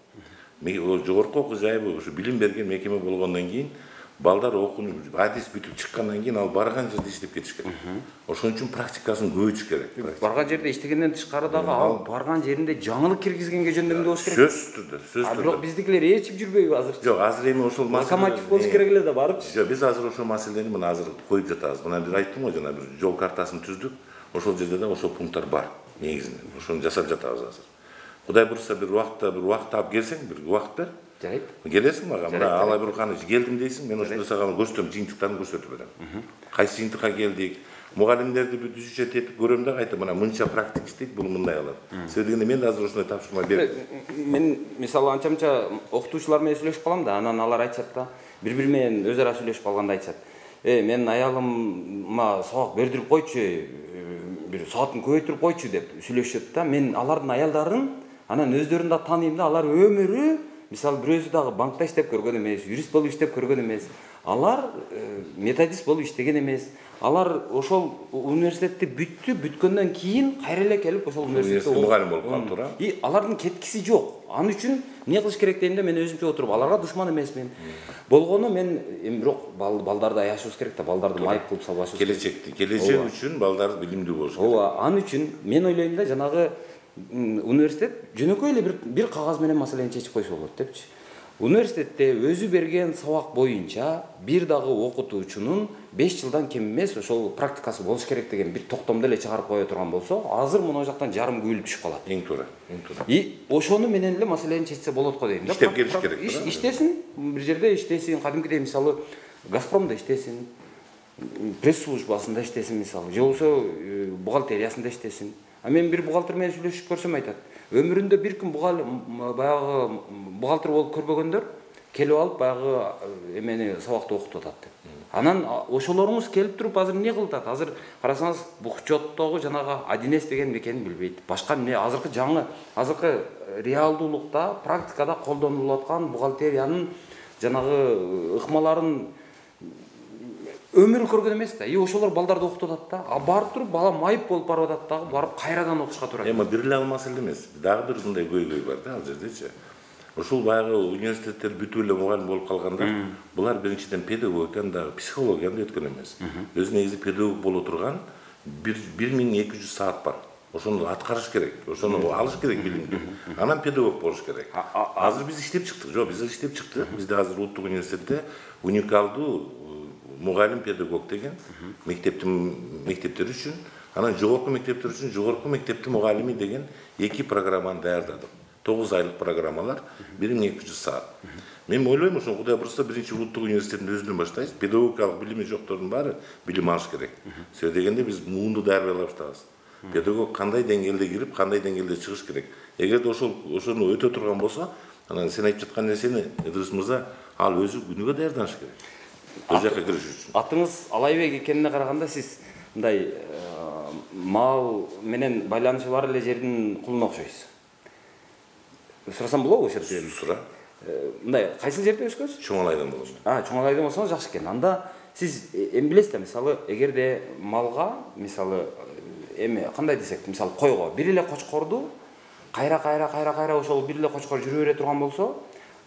Жогорку окуу жайы ушу билим берген мекеме болгондон кийин балдар окунуп адис бүтүп чыккандан кийин ал барган жерде иштеп кетиш керек. Ошон үчүн практикасын көбөйтүш керек. Барган жерде иштегенден тышкары дагы ал барган жеринде жаңылык киргизгенге жөндөмдүү болуш керек. Сөзсүз түрдө, сөзсүз түрдө. Бирок биздикилер эчип жүрбөйбү азыр? Жок, азыр эми ошол локомотив болуш керек эле да барып. Жок, биз азыр ошол маселени мына азыр коюп жатабыз. Мына бир айттым го, жана бир жол картасын түздүк. Ошол жерде да ошол пункттар бар негизинен. Ошону жасап жатабыз азыр. Кудай бурса бир убакта бир убакыт алып келсең, бир убакыт бер. Жарайт. Келесиң мага, мына ала бир каны келдим дейсиң, мен ошондо сага көрсөтөм, жыйынтыктарын көрсөтүп берем. Кайсы жыйынтыкка келдик, мугалимдерди бир түзүчө тетип көрөм да кайта мына мынча практик иштейт, бул мындай алат. Себеби дегенде мен азыр ошондой тапшырма бердим. Мен мисалы анча-мынча окутуучулар менен сүйлөшүп калам да, анан алар айтышат да, бири-бири менен өз ара сүйлөшүп калганда айтышат. Э, мен аялыма сабак бердирип койчу, бир саатын көбөйтүрүп койчу деп сүйлөшөт да. Мен алардын аялдарын анан өздөрүн да тааныйм да, алар өмүрү мисалы бирөөсү дагы банкта иштеп көргөн эмес, юрист болуп иштеп көргөн эмес. Алар методист болуп иштеген эмес. Алар ошол университетти бүттү, бүткөндөн кийин кайра эле келип ошол университетте мугалим болуп калды, туура. И алардын кеткиси жок. Ан үчүн эмне кылыш керек дегенде мен өзүмчө отуруп, аларга душман эмесмин. Болгону мен эми бирок балдарды аяшыбыз керек да, балдарды майып кылып салбашыбыз керек. Келечекти, келечек үчүн балдар билимдүү болуш керек. Ооба, ан үчүн мен ойлойм да, жанагы университет жөнөкөй эле бир бир кагаз менен маселени чечип койсо болот депчи. Университетте өзү берген сабак боюнча бир дагы окутуучунун беш жылдан кем эмес ошол практикасы болуш керек деген бир токтомду эле чыгарып кое турган болсо, азыр мына жактан жарым күбөлүп түшүп калат. Эң туура, эң туура. И ошону менен эле маселени чечсе болот го дейм да. Иштеп келиш керек. Иштесин, бир жерде иштесин, кадимкидей мисалы Газпромдо иштесин, пресс службасында иштесин мисалы, же болбосо бухгалтериясында иштесин. А мен бир бухгалтер менен сүйлөшүп көрсөм айтат, өмүрүндө бир күн баягы бухгалтер болуп көрбөгөндөр келип алып баягы эмени сабакты окутуп атат деп. Анан ошолоруңуз келип туруп азыр эмне кылып атат? Азыр карасаңыз бухчоттогу жанагы один эс деген экенин билбейт. Башка эмне азыркы жаңы, азыркы реалдуулукта, практикада колдонулуп аткан бухгалтериянын жанагы ыкмаларын өмүрү көргөн эмес да. И ошолор балдарды окутуп атат да. А барып туруп бала майып болуп барып атат дагы, барып кайрадан окушка туура келет. Эми бир эле ал маселе эмес. Дагы бир мындай көйгөй бар да ал жердечи. Ошол баягы университеттер бүтүп эле мугалим болуп калгандар, булар биринчиден педагогиканы дагы психологияны да өткөн эмес. Өзү негизи педагог боло турган бир миң эки жүз саат бар. Ошону аткарыш керек, ошону алыш керек билимди. Анан педагог болуш керек. Азыр биз иштеп чыктык, жок, биз иштеп чыктык. Бизде азыр Улуттук университетте уникалдуу мугалим педагог деген мектептин мектептер үчүн, анан жогорку мектептер үчүн жогорку мектептин мугалими деген эки программаны даярдадык. тогуз айлык программалар, бир миң эки жүз саат. Мен ойлойм, ошо Кудай бурса биринчи Улуттук университеттин өзүнөн баштайбыз. Педагогикалык билими жоктордун баары билим алыш керек. Себеби дегенде биз муунду даярдай баштабыз. Педагог кандай деңгээлде кирип, кандай деңгээлде чыгыш керек. Эгерде ошол ошону өтө турган болсо, анан сен айтып жаткан нерсени Ыдырыс мырза ал өзү күнүгө даярданыш керек. Өз жакка кириш үчүн. Атыңыз Алайбек экенине караганда сиз мындай мал менен байланышы бар эле жердин кулуна окшойсуз. Сурасам болобу ошол жерде? Сура. Мындай кайсы жерде өскөнсүз? Чоңалайдан болсо. А, Чоңалайдан болсоңуз жакшы экен. Анда сиз эми билесиз да, мисалы, эгерде малга, мисалы, эми кандай десек, мисалы, койго бир эле кочкорду кайра кайра кайра кайра ошол бир эле кочкор жүрө бере турган болсо,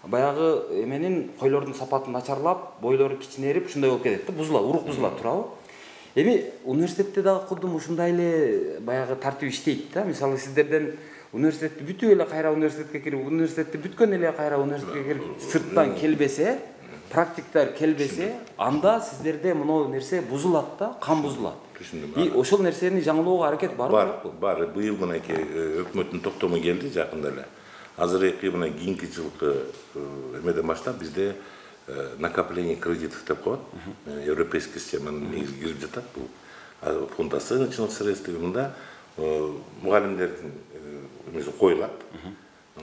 баягы эменин койлордун сапаты начарлап, бойлору кичинерип, ушундай болуп кетет да, бузулат, урук бузулат, туурабы? Эми университетте дагы кудум ушундай эле баягы тартип иштейт да. Мисалы, сиздерден университетти бүтүп эле кайра университетке кирип, университетти бүткөн эле кайра университетке кирип, сырттан келбесе, практиктер келбесе, анда сиздерде мынау нерсе бузулат да, кан бузулат. И ошол нерсени жаңылоого аракет барбы? Бар, бар. Быйыл мынакей өкмөттүн токтому келди жакында эле. Азыркы мына кийинки жылкы эмеден баштап бизде накопление кредитов деп коет. Европейский системанын негизи кирип жатат бул. Фонд оценочных средств мында мугалимдердин эмеси коюлат.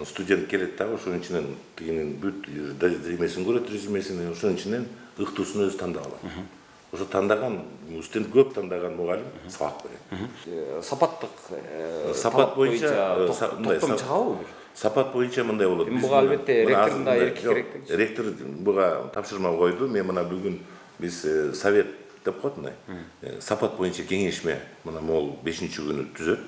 Студент келет да, ошонун ичинен тигинин бүт эмесин көрөт, резюмесин, ошонун ичинен ыктуусун өзү тандап алат. Ошо тандаган, студент көп тандаган мугалим сабак берет. Сапаттык сапат боюнча токтом чыгабы бир? Сапат боюнча мындай болот. Буга албетте ректордун да эрки керек. Ректор буга тапшырма койду. Мен мына бүгүн биз совет деп коет мына. Сапат боюнча кеңешме мына могул бешинчи күнү түзөт.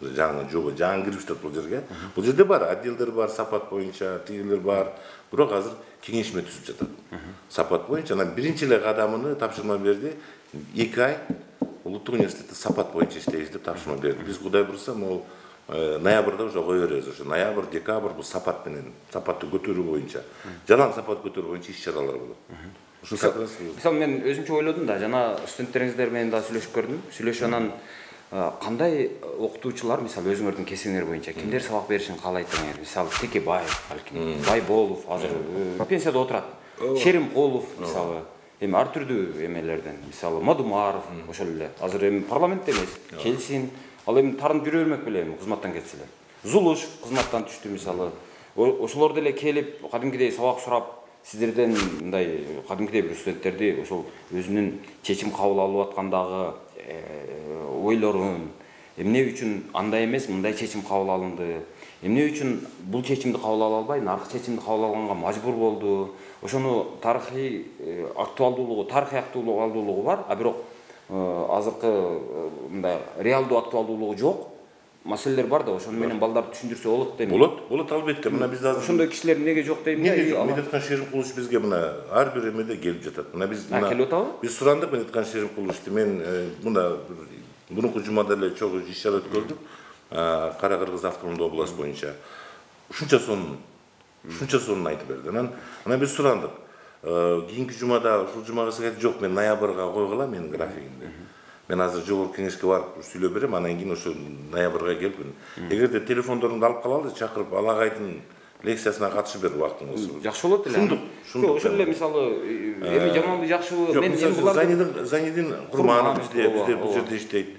жаңы жоба жаңы кирип жатат бул жерге. Бул жерде бар отделдер бар, сапат боюнча, тигилер бар. Бирок азыр кеңешме түзүп жатат. Сапат боюнча анан биринчи эле кадамын тапшырма берди. эки ай улуттук университетте сапат боюнча иштейбиз деп тапшырма берди. Биз Кудай буйрса, могул ноябрда уже кое беребиз. Ошо ноябрь, декабрь бул сапат менен, сапатты көтөрүү боюнча, жалаң сапат көтөрүү боюнча иш-чаралар болот. Мисалы мен өзүмчө ойлодум да, жана студенттериңиздер менен да сүйлөшүп көрдүм. Сүйлөшүп анан кандай окутуучулар, мисалы өзүңөрдүн кесиңер боюнча кимдер сабак беришин каалайт деңер? Мисалы Текебаев, балким, Байболов азыр пенсияда отурат. Шеримкулов, мисалы, эми ар түрдүү эмелерден, мисалы Мадумаров, ошол эле. Азыр эми парламентте эмес, келсин, ал эми тарынып жүрө бермек беле эми кызматтан кетсе эле. Зулушев кызматтан түштү мисалы. Ошолор деле келип, кадимкидей сабак сурап, сиздерден мындай кадимкидей бир студенттерди ошол өзүнүн чечим кабыл алып аткандагы ойлорун, эмне үчүн андай эмес, мындай чечим кабыл алынды, эмне үчүн бул чечимди кабыл ала албай, наркы чечимди кабыл алганга мажбур болду. Ошону тарыхый актуалдуулугу, тарыхый актуалдуулугу бар, а бирок азыркы мындай реалдуу актуалдуулугу жок. Маселелер бар да, ошону менен балдарды түшүндүрсө болот дейм. Болот, болот албетте. Мына биз азыр ошондой кишилер эмнеге жок дейм да. Медеткан Шеримкулович бизге мына ар бир эмеде келип жатат. Мына биз мына келип атабы? Биз сурандык Медеткан Шеримкуловичти. Мен мына мурунку жумада эле чогуу иш-чара өткөрдүк. Кара Кыргыз автономдуу область боюнча. Ушунча сонун, ушунча сонун айтып берди. Анан анан биз сурандык. Кийинки жумада, ушул жумага сыгат жок, мен ноябрга койгула менин графигимди. Мен азыр жогорку кеңешке барып сүйлөп берем, анан кийин ошо ноябрга келип, эгерде телефондорунду алып калалы, чакырып Алагайдын лекциясына катышып бер убактыңыз. Жакшы болот эле. Шундук, шундук. Ошол эле мисалы эми жаманбы жакшыбы, мен Занидин Занидин Курманов бизде бизде бул жерде иштейт.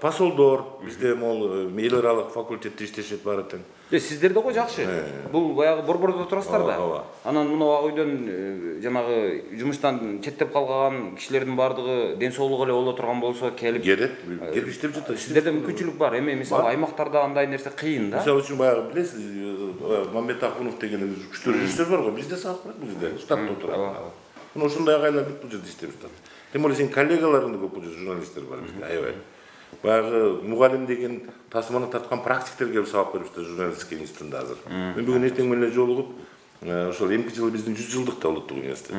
Посолдор бизде могул эл аралык факультетте иштешет баары тең. Сиздер да го жакшы. Бул баягы борбордо турасыздар да. Анан мына ак үйдөн жанагы жумуштан четтеп калган кишилердин баардыгы ден соолугу эле боло турган болсо келип келет, келип иштеп жатат. Сиздерде мүмкүнчүлүк бар. Эми мисалы аймактарда андай нерсе кыйын да. Мисалы үчүн баягы билесиз, Мамбет Акунов деген күчтүү режиссер бар го, бизде сабак берет, бизде штатта отурат. Мына ошондой агайлар бүт бул жерде иштеп жатат. Тем более сенин коллегаларың да көп, бул жерде журналисттер бар бизде, аябай. Баягы мугалим деген тасманы тарткан практиктерге келип сабак берип жатат журналистика институтунда азыр. Мен бүгүн эртең менен жолугуп, ошол эмки жылы биздин жүз жылдыкта улуттук университет.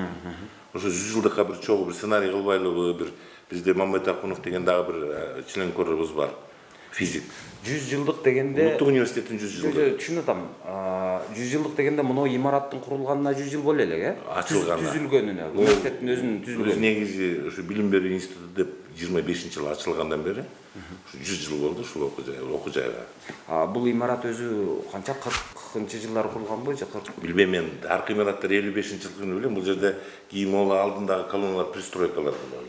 Ошо жүз жылдыкка бир чогуу бир сценарий кылбайлыбы, бир бизде Мамбет Акунов деген дагы бир членкорубуз бар, физик. жүз жылдык дегенде улуттук университеттин жүз жылдыгы. Түшүнүп атам. жүз жылдык дегенде мына имараттын курулганына жүз жыл боло эле, э? Ачылганына. Түзүлгөнүнө, университеттин өзүнүн түзүлгөнүнө. Негизи ошо билим берүү институту деп жыйырма бешинчи жылы ачылгандан бери жүз жыл болду ушул окуу жай, окуу жайга. А бул имарат өзү канча кыркынчы жылдары курулганбы же кырк? Билбейм мен. Аркы имараттар элүү бешинчи жылкыны билем. Бул жерде кийин могул алдындагы колонналар, пристройкалар болот.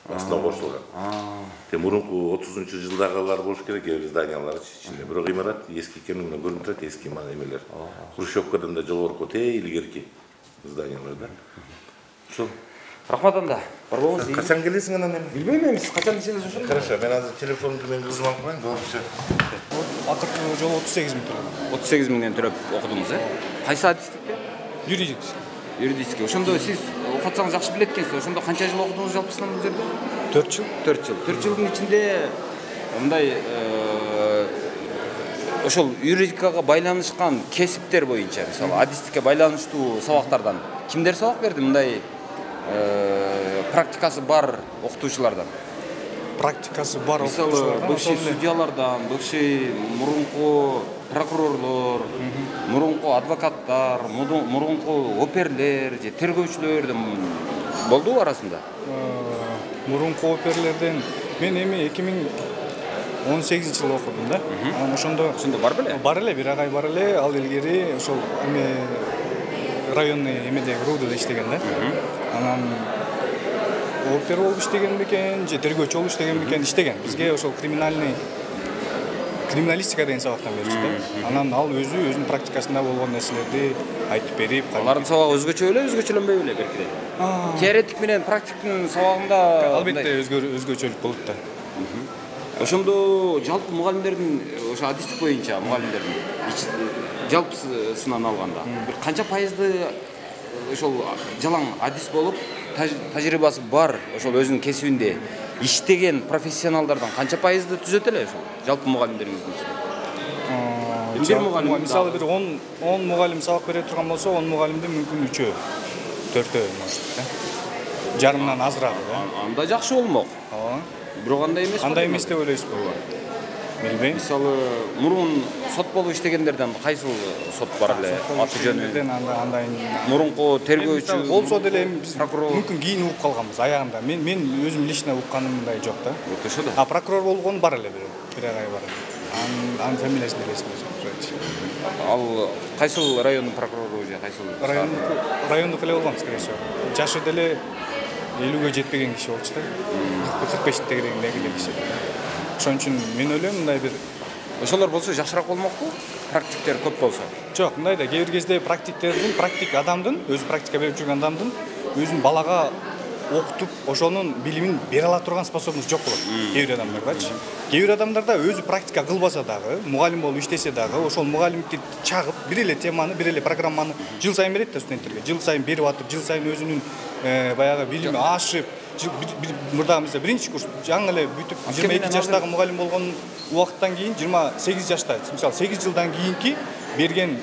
Астына кошулган. Те мурунку отузунчу жылдагылар болуш керек, зданиялар ичинде. Бирок имарат эски экени менен көрүнүп турат, эски эмелер. Хрущевкадан да жогорку те илгерки зданиялар да. Ошол. Рахмат анда. Бар болуңуз. Качан келесиң анан эми? Билбейм эми, сиз качан десеңиз ошол. Хорошо, мен азыр телефонумду мен кызыма алып коеюн, болсо. Акыркы жолу отуз сегиз миң төлөдүм. отуз сегиз миңден төлөп окудуңуз, э? Кайсы адистикте? Юридический. Юридический. Ошондо сиз окутсаңыз жакшы билет экенсиз. Ошондо канча жыл окудуңуз жалпысынан бул жерде? төрт жыл. төрт жыл. төрт жылдын ичинде мындай ошол юридикага байланышкан кесиптер боюнча, мисалы, адистикке байланыштуу сабактардан кимдер сабак берди мындай практикасы бар окутуучулардан? Практикасы бар окутуучулардан. Мисалы, бывший судьялардан, бывший мурунку прокурорлор, мурунку адвокаттар, мурунку оперлер же тергөөчүлөрдөн болдубу арасында? Мурунку оперлерден мен эми эки миң он сегизинчи жылы окудум да. Анан ошондо ошондо бар беле? Бар эле, бир агай бар эле. Ал илгери ошол эме районный эмеде РУДда иштеген да. Анан опер болуп иштеген бекен, же тергөөчү болуп иштеген бекен, иштеген. Бизге ошол криминальный криминалистика деген сабактан беришти да. Анан ал өзү өзүнүн практикасында болгон нерселерди айтып берип, алардын сабагы өзгөчө беле, өзгөчөлөнбөй беле белгиле? Теоретик менен практиктин сабагында албетте өзгөчөлүк болот да. Ошондо жалпы мугалимдердин, ошо адистик боюнча мугалимдердин жалпысынан алганда бир канча пайызды ошол жалаң адис болуп, тажрыйбасы бар, ошол өзүнүн кесибинде иштеген профессионалдардан канча пайызды түзөт эле ошол жалпы мугалимдериңиздин ичинде? Бир мугалим мисалы бир он он мугалим сабак бере турган болсо, он мугалимдин мүмкүн үчөө, төртөө может, жарымдан азыраак. Анда жакшы болмок. Ооба. Бирок андай эмес. Андай эмес деп ойлойсузбу? Билбейм. Мисалы, мурун сот болуп иштегендерден кайсыл сот бар эле? Аты жөнү. Андай мурунку тергөөчү болсо деле биз мүмкүн кийин угуп калганбыз аягында. Мен мен өзүм лично укканымдай жок да. Ошо да. А прокурор болгон бар эле бир. Бир агай бар. Анын анын фамилиясын элесимде жок. Ал кайсыл райондун прокурору же кайсыл? Райондук эле болгон, скорее всего. Жашы деле элүүгө жетпеген киши болчу да. кырк бештегидеги киши. Ошон үчүн мен ойлойм мындай бир ошолор болсо жакшыраак болмокпу? Практиктер көп болсо. Жок, мындай да кээ бир кезде практиктердин, практик адамдын, өзү практика берип жүргөн адамдын өзүн балага окутуп, ошонун билимин бере ала турган способность жок болот. Кээ бир адамдардачы. Кээ бир адамдарда өзү практика кылбаса дагы, мугалим болуп иштесе дагы, ошол мугалимдикти чагып, бир эле теманы, бир эле программаны жыл сайын берет да студенттерге. Жыл сайын берип атып, жыл сайын өзүнүн баягы билими ашып, мурдагы мисалы биринчи курс жаңы эле бүтүп жыйырма эки жаштагы мугалим болгон убакыттан кийин жыйырма сегиз жашта, мисалы сегиз жылдан кийинки берген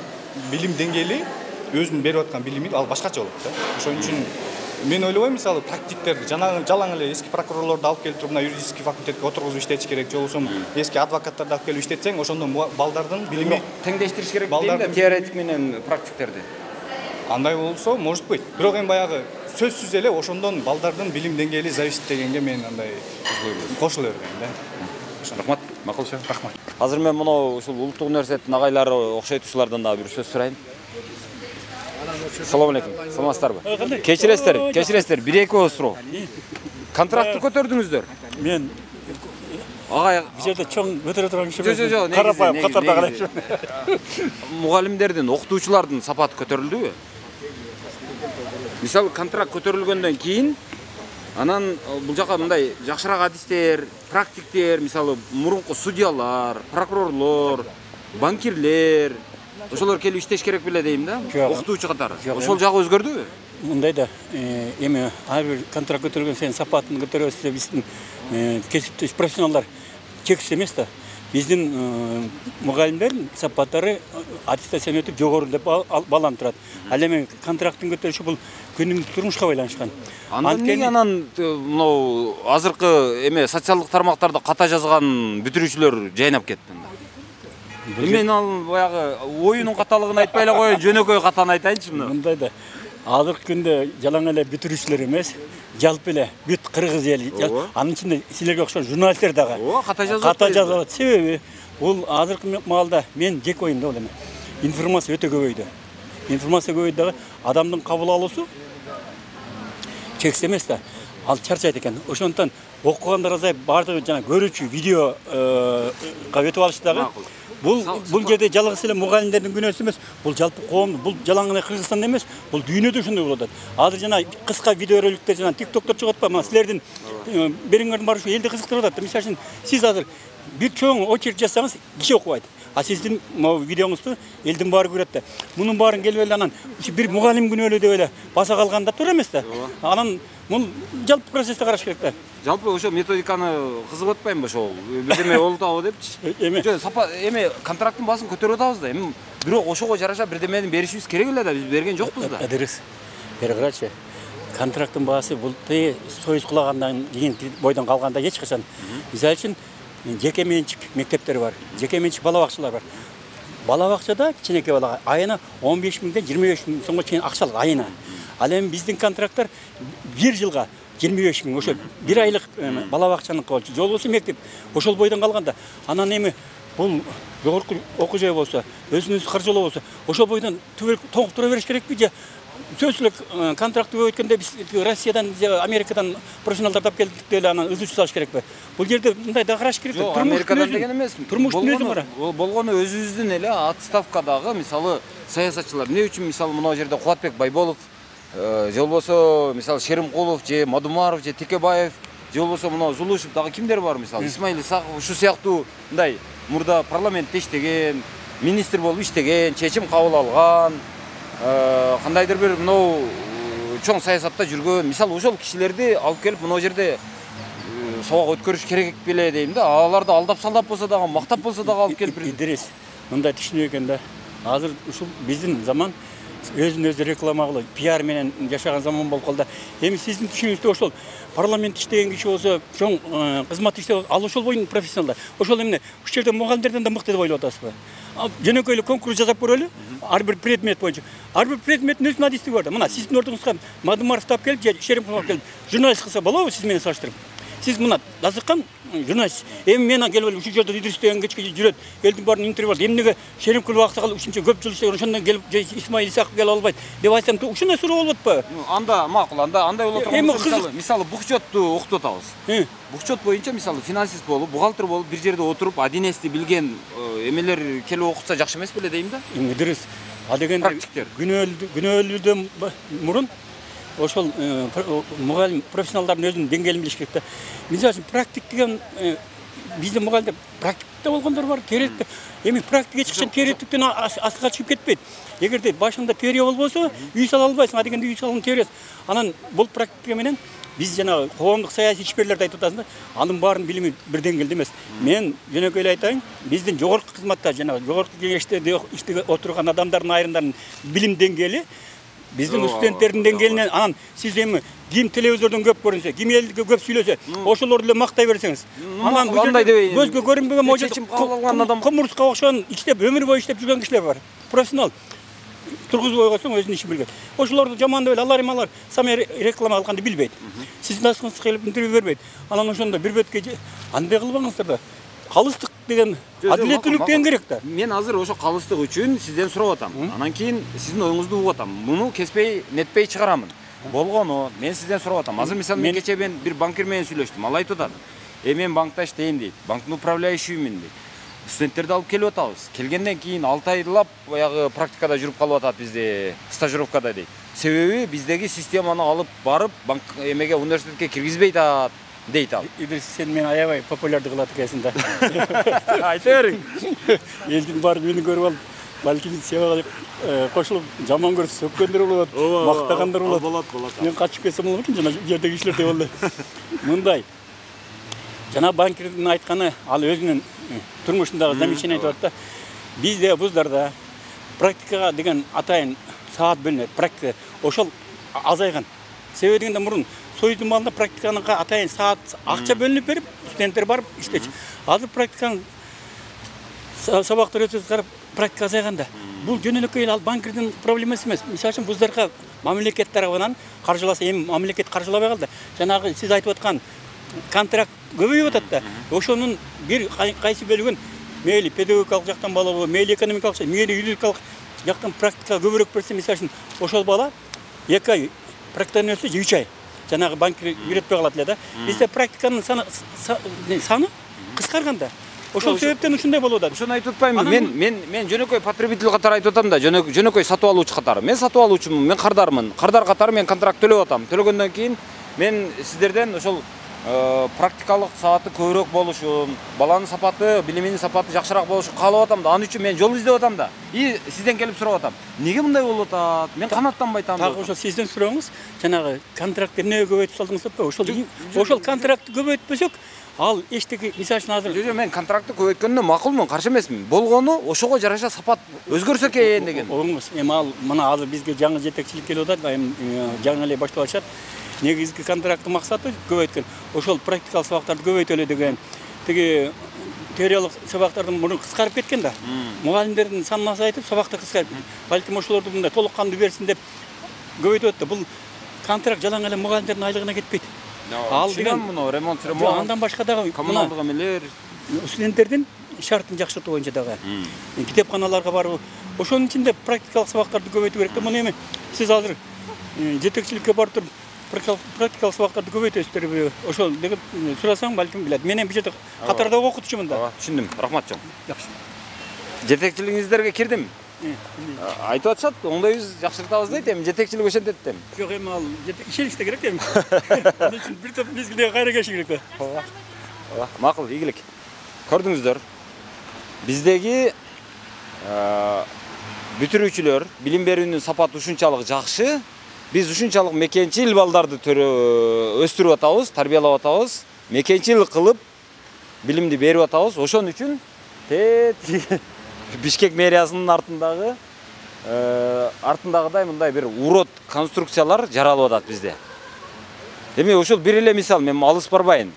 билим деңгээли, өзүнүн берип аткан билими ал башкача болот да. Ошон үчүн мен ойлобойм, мисалы практиктерди жанагы жалаң эле эски прокурорлорду алып келип туруп, мына юридический факультетке отургузуп иштетиш керек, же болбосо эски адвокаттарды алып келип иштетсең, ошондо балдардын билими теңдештириш керек дейм да, теоретик менен практиктерди. Андай болсо, может быть. Бирок эми баягы сөзсүз эле ошондон балдардын билим деңгээли зависит дегенге мен андай кошула бербейм да. Рахмат, макулчу. Рахмат. Азыр мен мына ушул Улуттук университеттин агайлары окшойтуучулардан дагы бир сөз сурайын. Салам алейкум. Саламатсыздарбы? Кечиресиздер, кечиресиздер. бир-эки ооз суроо. Контрактты көтөрдүңүздөр? Мен агай бул жерде чоң көтөрө турган киши эмес. Жок, жок, карапайым катарда карайчы. Мугалимдердин, окутуучулардын сапаты көтөрүлдүбү? Мисалы, контракт көтөрүлгөндөн кийин анан бул жака мындай жакшыраак адистер, практиктер, мисалы, мурунку судьялар, прокурорлор, банкирлер, ошолор келип иштеш керек беле дейм да, окутуучу катары. Ошол жагы өзгөрдүбү? Мындай да, эми ар бир контракт көтөргөн сайын сапатын көтөрөбүз деп биздин кесиптеш профессионалдар чексиз эмес да. Биздин мугалимдердин сапаттары аттестацион өтүп жогору деп баланып турат. Ал эми контракттын көтөрүшү бул күнүмдүк турмушка байланышкан. Андан эмне анан мынау азыркы эме социалдык тармактарда ката жазган бүтүрүүчүлөр жайнап кетти. Мен ал баягы оюнун каталыгын айтпай эле коеюн, жөнөкөй катаны айтайынчы мына. Мындай да. Азыркы күндө жалаң эле бүтүрүүчүлөр эмес, жалпы эле бүт кыргыз эли, анын ичинде силерге окшош журналисттер дагы ката жазып ката жазат. Себеби бул азыркы маалда мен жеке оюм да бул эми. Информация өтө көбөйдү. Информация көбөйдү дагы адамдын кабыл алуусу чексиз эмес да. Ал чарчайт экен. Ошондон окугандар азайып, бардыгы жана көрүүчү видео өтүп алыш дагы. Бул бул жерде жалгыз эле мугалимдердин күнөөсү эмес, бул жалпы коом, бул жалаң эле Кыргызстанда эмес, бул дүйнөдө ошондой болуп атат. Азыр жана кыска видео роликтер жана тиктоктор чыгып атпайбы? Мына силердин бериңердин баары ушу элди кызыктырып атат. Мисалы үчүн сиз азыр бир чоң очередь жасасаңыз, киши окубайт. А сиздин могу видеоңузду элдин баары көрөт да. Мунун баарын келип эле анан бир мугалим күнөөлүү деп эле баса калганда туура эмес да. Анан бул жалпы процессти караш керек да. Жалпы ошо методиканы кызыгып атпайбы ошол? Бирдеме болуп атабы депчи. Эме жок, сапа эме контракттын баасын көтөрүп атабыз да. Эми бирок ошого жараша бирдемени беришибиз керек эле да. Биз берген жокпуз да. Дырыс. Бери карачы. Контракттын баасы бул союз кулагандан кийин бойдон калганда эч качан. Мисалы үчүн жеке менчик мектептер бар, жеке менчик бала бакчалар бар. Бала бакчада кичинекей балага айына он беш миңден жыйырма беш миң сомго чейин акча алат айына. Ал эми биздин контракттар бир жылга жыйырма беш миң, ошо бир айлык бала бакчанын болчу, же болбосо мектеп ошол бойдон калганда. Анан эми бул жогорку окуу жай болсо, өзүнүн каржылоо болсо, ошол бойдон тоңуп тура бериш керекпи же? Сөзсүз эле контрактты өткөндө биз Россиядан, Америкадан профессионалдарды алып келдик деп эле анан ызычуу салыш керекпи? Бул жерде мындай да караш керек. Жок, Америкадан деген эмес. Турмуштун өзү бар. Болгону өзүбүздүн эле отставкадагы мисалы саясатчылар. Эмне үчүн мисалы мына жерде Кубатбек Байболов, же болбосо мисалы Шеримкулов, же Мадумаров, же Текебаев, же болбосо мына Зулушев дагы кимдер бар мисалы? Исмаил Исаков ушу сыяктуу мындай мурда парламентте иштеген, министр болуп иштеген, чечим кабыл алган, кандайдыр бир мынау чоң саясатта жүргөн, мисалы ошол кишилерди алып келип мына жерде сабак өткөрүш керек беле дейм да. Аларды алдап салдап болсо дагы, мактап болсо дагы алып келип Идрис, мындай түшүнүү экен да. Азыр ушул биздин заман өзүн өзү реклама кылып, пиар менен жашаган заман болуп калды. Эми сиздин түшүнүңүздө ошол парламент иштеген киши болсо, чоң кызмат иштеп, ал ошол боюнун профессионалдар. Ошол эмне, ушул жерде мугалимдерден да мыкты деп ойлоп атасызбы? Жөнөкөй эле конкурс жасап көрөлү. Ар бир предмет боюнча. Ар бир предметтин өзүнүн адистиги бар да. Мына сиздин ордуңузга Мадымаров тап келип, же Шеримкулов келип, журналист кылса болобу сиз менен салыштырып? Сиз мына дасыккан журналист. Эми мен келип ушул жерде Идрис деген кечке жүрөт. Элдин баарын интервью алды. Эмнеге Шеримкулов аксакал ушунча көп жыл иштеген, ошондон келип Исмаил Исаков келип албайт деп айтсам, ушундай суроо болот атпайбы? Анда макул, анда андай болот турган мисалы, мисалы бухчотту окутуп атабыз. Бухчот боюнча мисалы финансист болуп, бухгалтер болуп, бир жерде отуруп, один эсти билген эмелер келип окутса жакшы эмес беле дейм да? Идрис, а дегенде күнөөлүүдөн мурун ошол мугалим профессионалдардын өзүнүн деңгээлин билиш керек да. Мисалы үчүн практик деген биздин мугалимдер практикте болгондор бар, теоретикте. Эми практика эч качан теоретиктен астыга чыгып кетпейт. Эгерде башында теория болбосо, үй сала албайсың. А дегенде үй салуунун теориясы. Анан бул практика менен биз жанагы коомдук саясий ишмерлерди айтып атасың да, анын баарын билими бир деңгээлде эмес. Мен жөнөкөй эле айтайын, биздин жогорку кызматта жанагы жогорку кеңеште иштеп отурган адамдардын айрымдарынын билим деңгээли биздин студенттердин деңгээлинен, анан сиз эми ким телевизордон көп көрүнсө, ким элге көп сүйлөсө, ошолорду эле мактай берсеңиз, анан андай дебейин. Көзгө көрүнбөгөн можо кумурска окшогон иштеп өмүр бою иштеп жүргөн кишилер бар. Профессионал. Тургузуп койгонсоң өзүнүн ишин билген. Ошолорду жамандап эле алар эми алар сами реклама кылганды билбейт. Сиздин дасыңызга келип интервью бербейт. Анан ошондо бир бетке андай кылбаңыздар да. Калыстык деген адилеттүүлүк деген керек да. Мен азыр ошо калыстык үчүн сизден сурап атам. Анан кийин сиздин оюңузду угуп атам. Муну кеспей, нетпей чыгарамын. Болгону мен сизден сурап атам. Азыр мисалы мен кече мен бир банкир менен сүйлөштүм. Ал айтып атат. Э мен банкта иштейм дейт. Банктын управляющиймин дейт. Студенттерди алып келип атабыз. Келгенден кийин алты айлап баягы практикада жүрүп калып атат бизде, стажировкада дейт. Себеби биздеги системаны алып барып банк эмеге университетке киргизбейт атат дейт ал. Идрис, сен мени аябай популярдуу кылат экенсиң да. Айта бериң. Элдин баары мени көрүп алып, балким сага кошулуп жаман көрсө сөккөндөр болот, мактагандар болот. Болот, болот. Мен качып кетсем болот экен жана жердеги кишилердей болду. Мындай. Жана банкирдин айтканы, ал өзүнүн турмушундагы замечание айтып атат да. Бизде вуздарда практикага деген атайын саат бөлүнөт. Практика ошол азайган. Себеби дегенде мурун Союздун маалында практиканын атайын саат акча бөлүнүп берип, студенттер барып иштечи. Азыр практиканын сабактар өтүп карап практика азайганда. Бул жөнөкөй ал банкирдин проблемасы эмес. Мисалы үчүн вуздарга мамлекет тарабынан каржыласа, эми мамлекет каржылабай калды. Жанагы сиз айтып аткан контракт көбөйүп атат да. Ошонун бир кайсы бөлүгүн мейли педагогикалык жактан болобу, мейли экономикалык, мейли юридикалык жактан практика көбүрөөк берсе, мисалы үчүн ошол бала эки ай практикадан өтсө үч ай жанагы банкир үйрөтпөй калат эле да. Бизде практиканын саны саны кыскарган да. Ошол себептен ушундай болуп атат. Ошону айтып атпаймынбы? Мен мен мен жөнөкөй потребитель катары айтып атам да, жөнөкөй сатып алуучу катары. Мен сатып алуучумун, мен кардармын. Кардар катары мен контракт төлөп атам. Төлөгөндөн кийин мен сиздерден ошол практикалык сааты көбүрөөк болушун, баланын сапаты, билиминин сапаты жакшыраак болушун каалап атам да. Анын үчүн мен жол издеп атам да. И сизден келип сурап атам. Эмнеге мындай болуп атат? Мен канааттанбай атам. Дагы ошол сизден сурооңуз, жанагы контрактты эмнеге көбөйтүп салдыңыз деп, ошол ошол контрактты көбөйтпөсөк, ал эчтеки мисалы үчүн азыр жо мен контрактты көбөйткөнүнө макулмун, каршы эмесмин. Болгону ошого жараша сапат өзгөрсө экен деген. Оңуз, эми ал мына азыр бизге жаңы жетекчилик келип атат, эми жаңы эле башталышат. Негизги контракттын максаты көбөйткөн. Ошол практикалык сабактарды көбөйтөлү деген. Тиги теориялык сабактардын мурун кыскарып кеткен да. Мугалимдердин санын азайтып, сабакты кыскарып. Балким ошолорду мындай толук кандуу берсин деп көбөйтүп атты. Бул контракт жалаң эле мугалимдердин айлыгына кетпейт. Ал деген муну ремонт, ремонт. Андан башка дагы коммуналдык эмелер, студенттердин шартын жакшыртуу боюнча дагы китепканаларга барып, ошонун ичинде практикалык сабактарды көбөйтүү керек да. Муну эми сиз азыр жетекчиликке барып туруп практикалык сабактарды көбөйтөсүздөрбү? Ошол деген сурасаң балким билет. Мен эми бул жерде катарда окутучумун да. Ооба, түшүндүм. Рахмат жон. Жакшы. Жетекчилигиңиздерге кирдим. Айтып атышат, оңдойбуз, жакшыртабыз дейт, эми жетекчилик ошентет да. Жок, эми ал ишеничте керек эми. Ал үчүн бир топ мезгилде кайра келиши керек да. Ооба. Ооба, макул, ийгилик. Көрдүңүздөр. Биздеги бүтүрүүчүлөр билим берүүнүн сапаты ушунчалык жакшы, биз ушунчалык мекенчил балдарды өстүрүп атабыз, тарбиялап атабыз, мекенчил кылып билимди берип атабыз. Ошон үчүн Бишкек мэриясынын артындагы артындагыдай мындай бир урот конструкциялар жаралып атат бизде. Демек ошол бир эле мисал, мен алыс барбайын.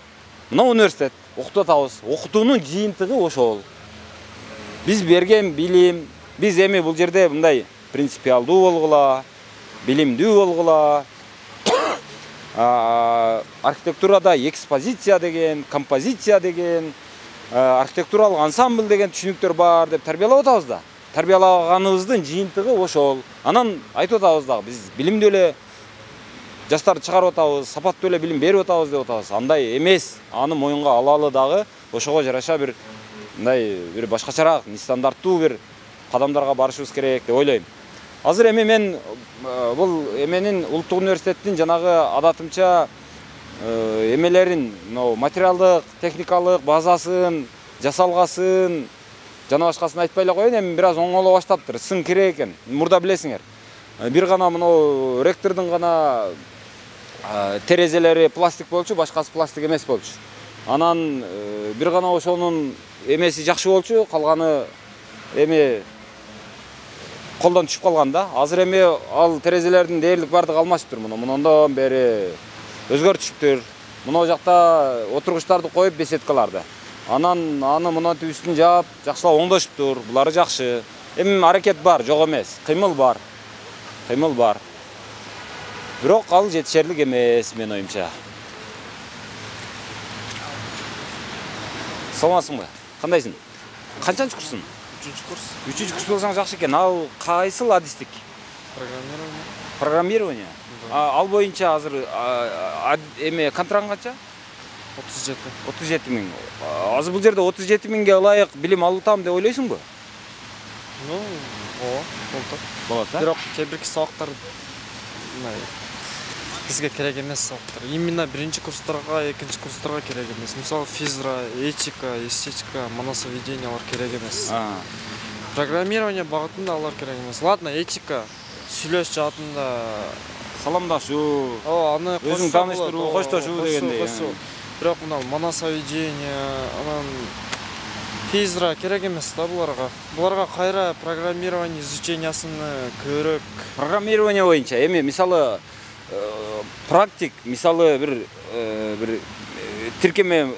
Мына университет окутуп атабыз. Окутуунун жыйынтыгы ошол. Биз берген билим, биз эми бул жерде мындай принципиалдуу болгула, билимдүү болгула, архитектурада экспозиция деген, композиция деген, архитектуралык ансамбль деген түшүнүктөр бар деп тарбиялап атабыз да. Тарбиялаганыбыздын жыйынтыгы ошол. Анан айтып атабыз дагы, биз билимдүү эле жаштарды чыгарып атабыз, сапаттуу эле билим берип атабыз деп атабыз. Андай эмес. Аны моюнга алалы дагы ошого жараша бир мындай бир башкачараак, нестандарттуу бир кадамдарга барышыбыз керек деп ойлойм. Азыр эми мен бул эменин Улуттук университеттин жанагы адатымча эмелерин, материалдык, техникалык базасын, жасалгасын, жана башкасын айтпай эле коеюн, эми бир аз оңоло баштаптыр. Сын керек экен. Мурда билесиңер. Бир гана мына ректордун гана терезелери пластик болчу, башкасы пластик эмес болчу. Анан бир гана ошонун эмеси жакшы болчу, калганы эми колдон түшүп калган да. Азыр эми ал терезелердин дээрлик бардыгы алмашыптыр муну. Мундан бери өзгөртүшүптүр. Мына жакта отургучтарды коюп беседкаларды. Анан аны мына түбүсүн жаап, жакшылап оңдошуптур. Булары жакшы. Эми аракет бар, жок эмес. Кыймыл бар. Кыймыл бар. Бирок ал жетишерлик эмес, мен оюмча. Саламатсыңбы? Кандайсың? Канчанчы курсуң? үчүнчү курс. үчүнчү курс болсоң жакшы экен. Ал кайсыл адистик? Программирование. Программирование. Ал боюнча азыр эме контрагың канча? отуз жети. отуз жети миң. Азыр бул жерде отуз жети миңге ылайык билим алып деп ойлойсуңбу? Ну, ооба, болот. Болот, да? Бирок кээ бирки сабактар бизге керек эмес сабактар. Именно биринчи курстарга, экинчи курстарга керек эмес. Мисалы, физра, этика, эстетика, манасоведение алар керек эмес. Программирование багытында алар керек эмес. Ладно, этика, сүйлөш жаатында саламдашуу, ооба, аны өзүң тааныштыруу, коштошуу дегендей. Бирок мына манасоведение, анан физра керек эмес да буларга. Буларга кайра программирование изучениясын көрөк. Программирование боюнча эми мисалы практик, мисалы бир бир тиркеме,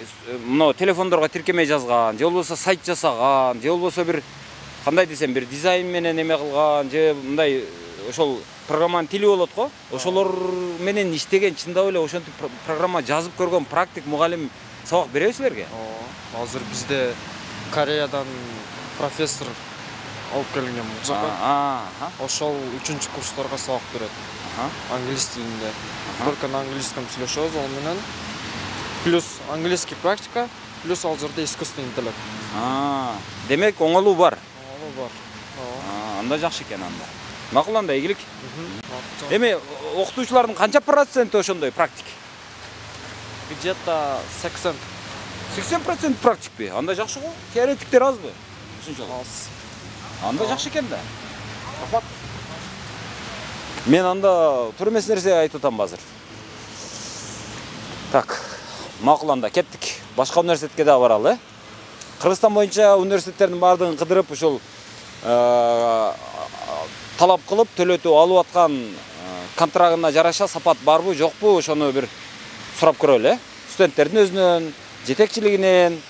мына телефондорго тиркеме жазган, же болбосо сайт жасаган, же болбосо бир кандай десем, бир дизайн менен эме кылган, же мындай ошол программанын тили болот го. Ошолор менен иштеген, чындап эле ошентип программа жазып көргөн практик мугалим сабак береби силерге? Ооба. Азыр бизде Кореядан профессор алып келген болчак. Ошол үчүнчү курстарга сабак берет. Англис тилинде. Только на английском сүйлөшөбүз ал менен. Плюс английский практика, плюс ал жерде искусственный интеллект. Демек оңолуу бар. Оңолуу бар. Ооба. Анда жакшы экен анда. Макул, анда ийгилик. Эми окутуучулардын канча проценти ошондой практик? Где-то сексен. сексен процент практикпи? Анда жакшы го. Теоретиктер азбы? Ушунчалык. Аз. Анда жакшы экен да. Рахмат. Мен анда туура эмес нерсе айтып атам азыр. Так, макул, анда кеттик. Башка университетке да баралы, э? Кыргызстан боюнча университеттердин баардыгын кыдырып, ушул талап кылып төлөтүп алып аткан контрагына жараша сапат барбы, жокпу, ошону бир сурап көрөлү, э? Студенттердин өзүнөн, жетекчилигинен,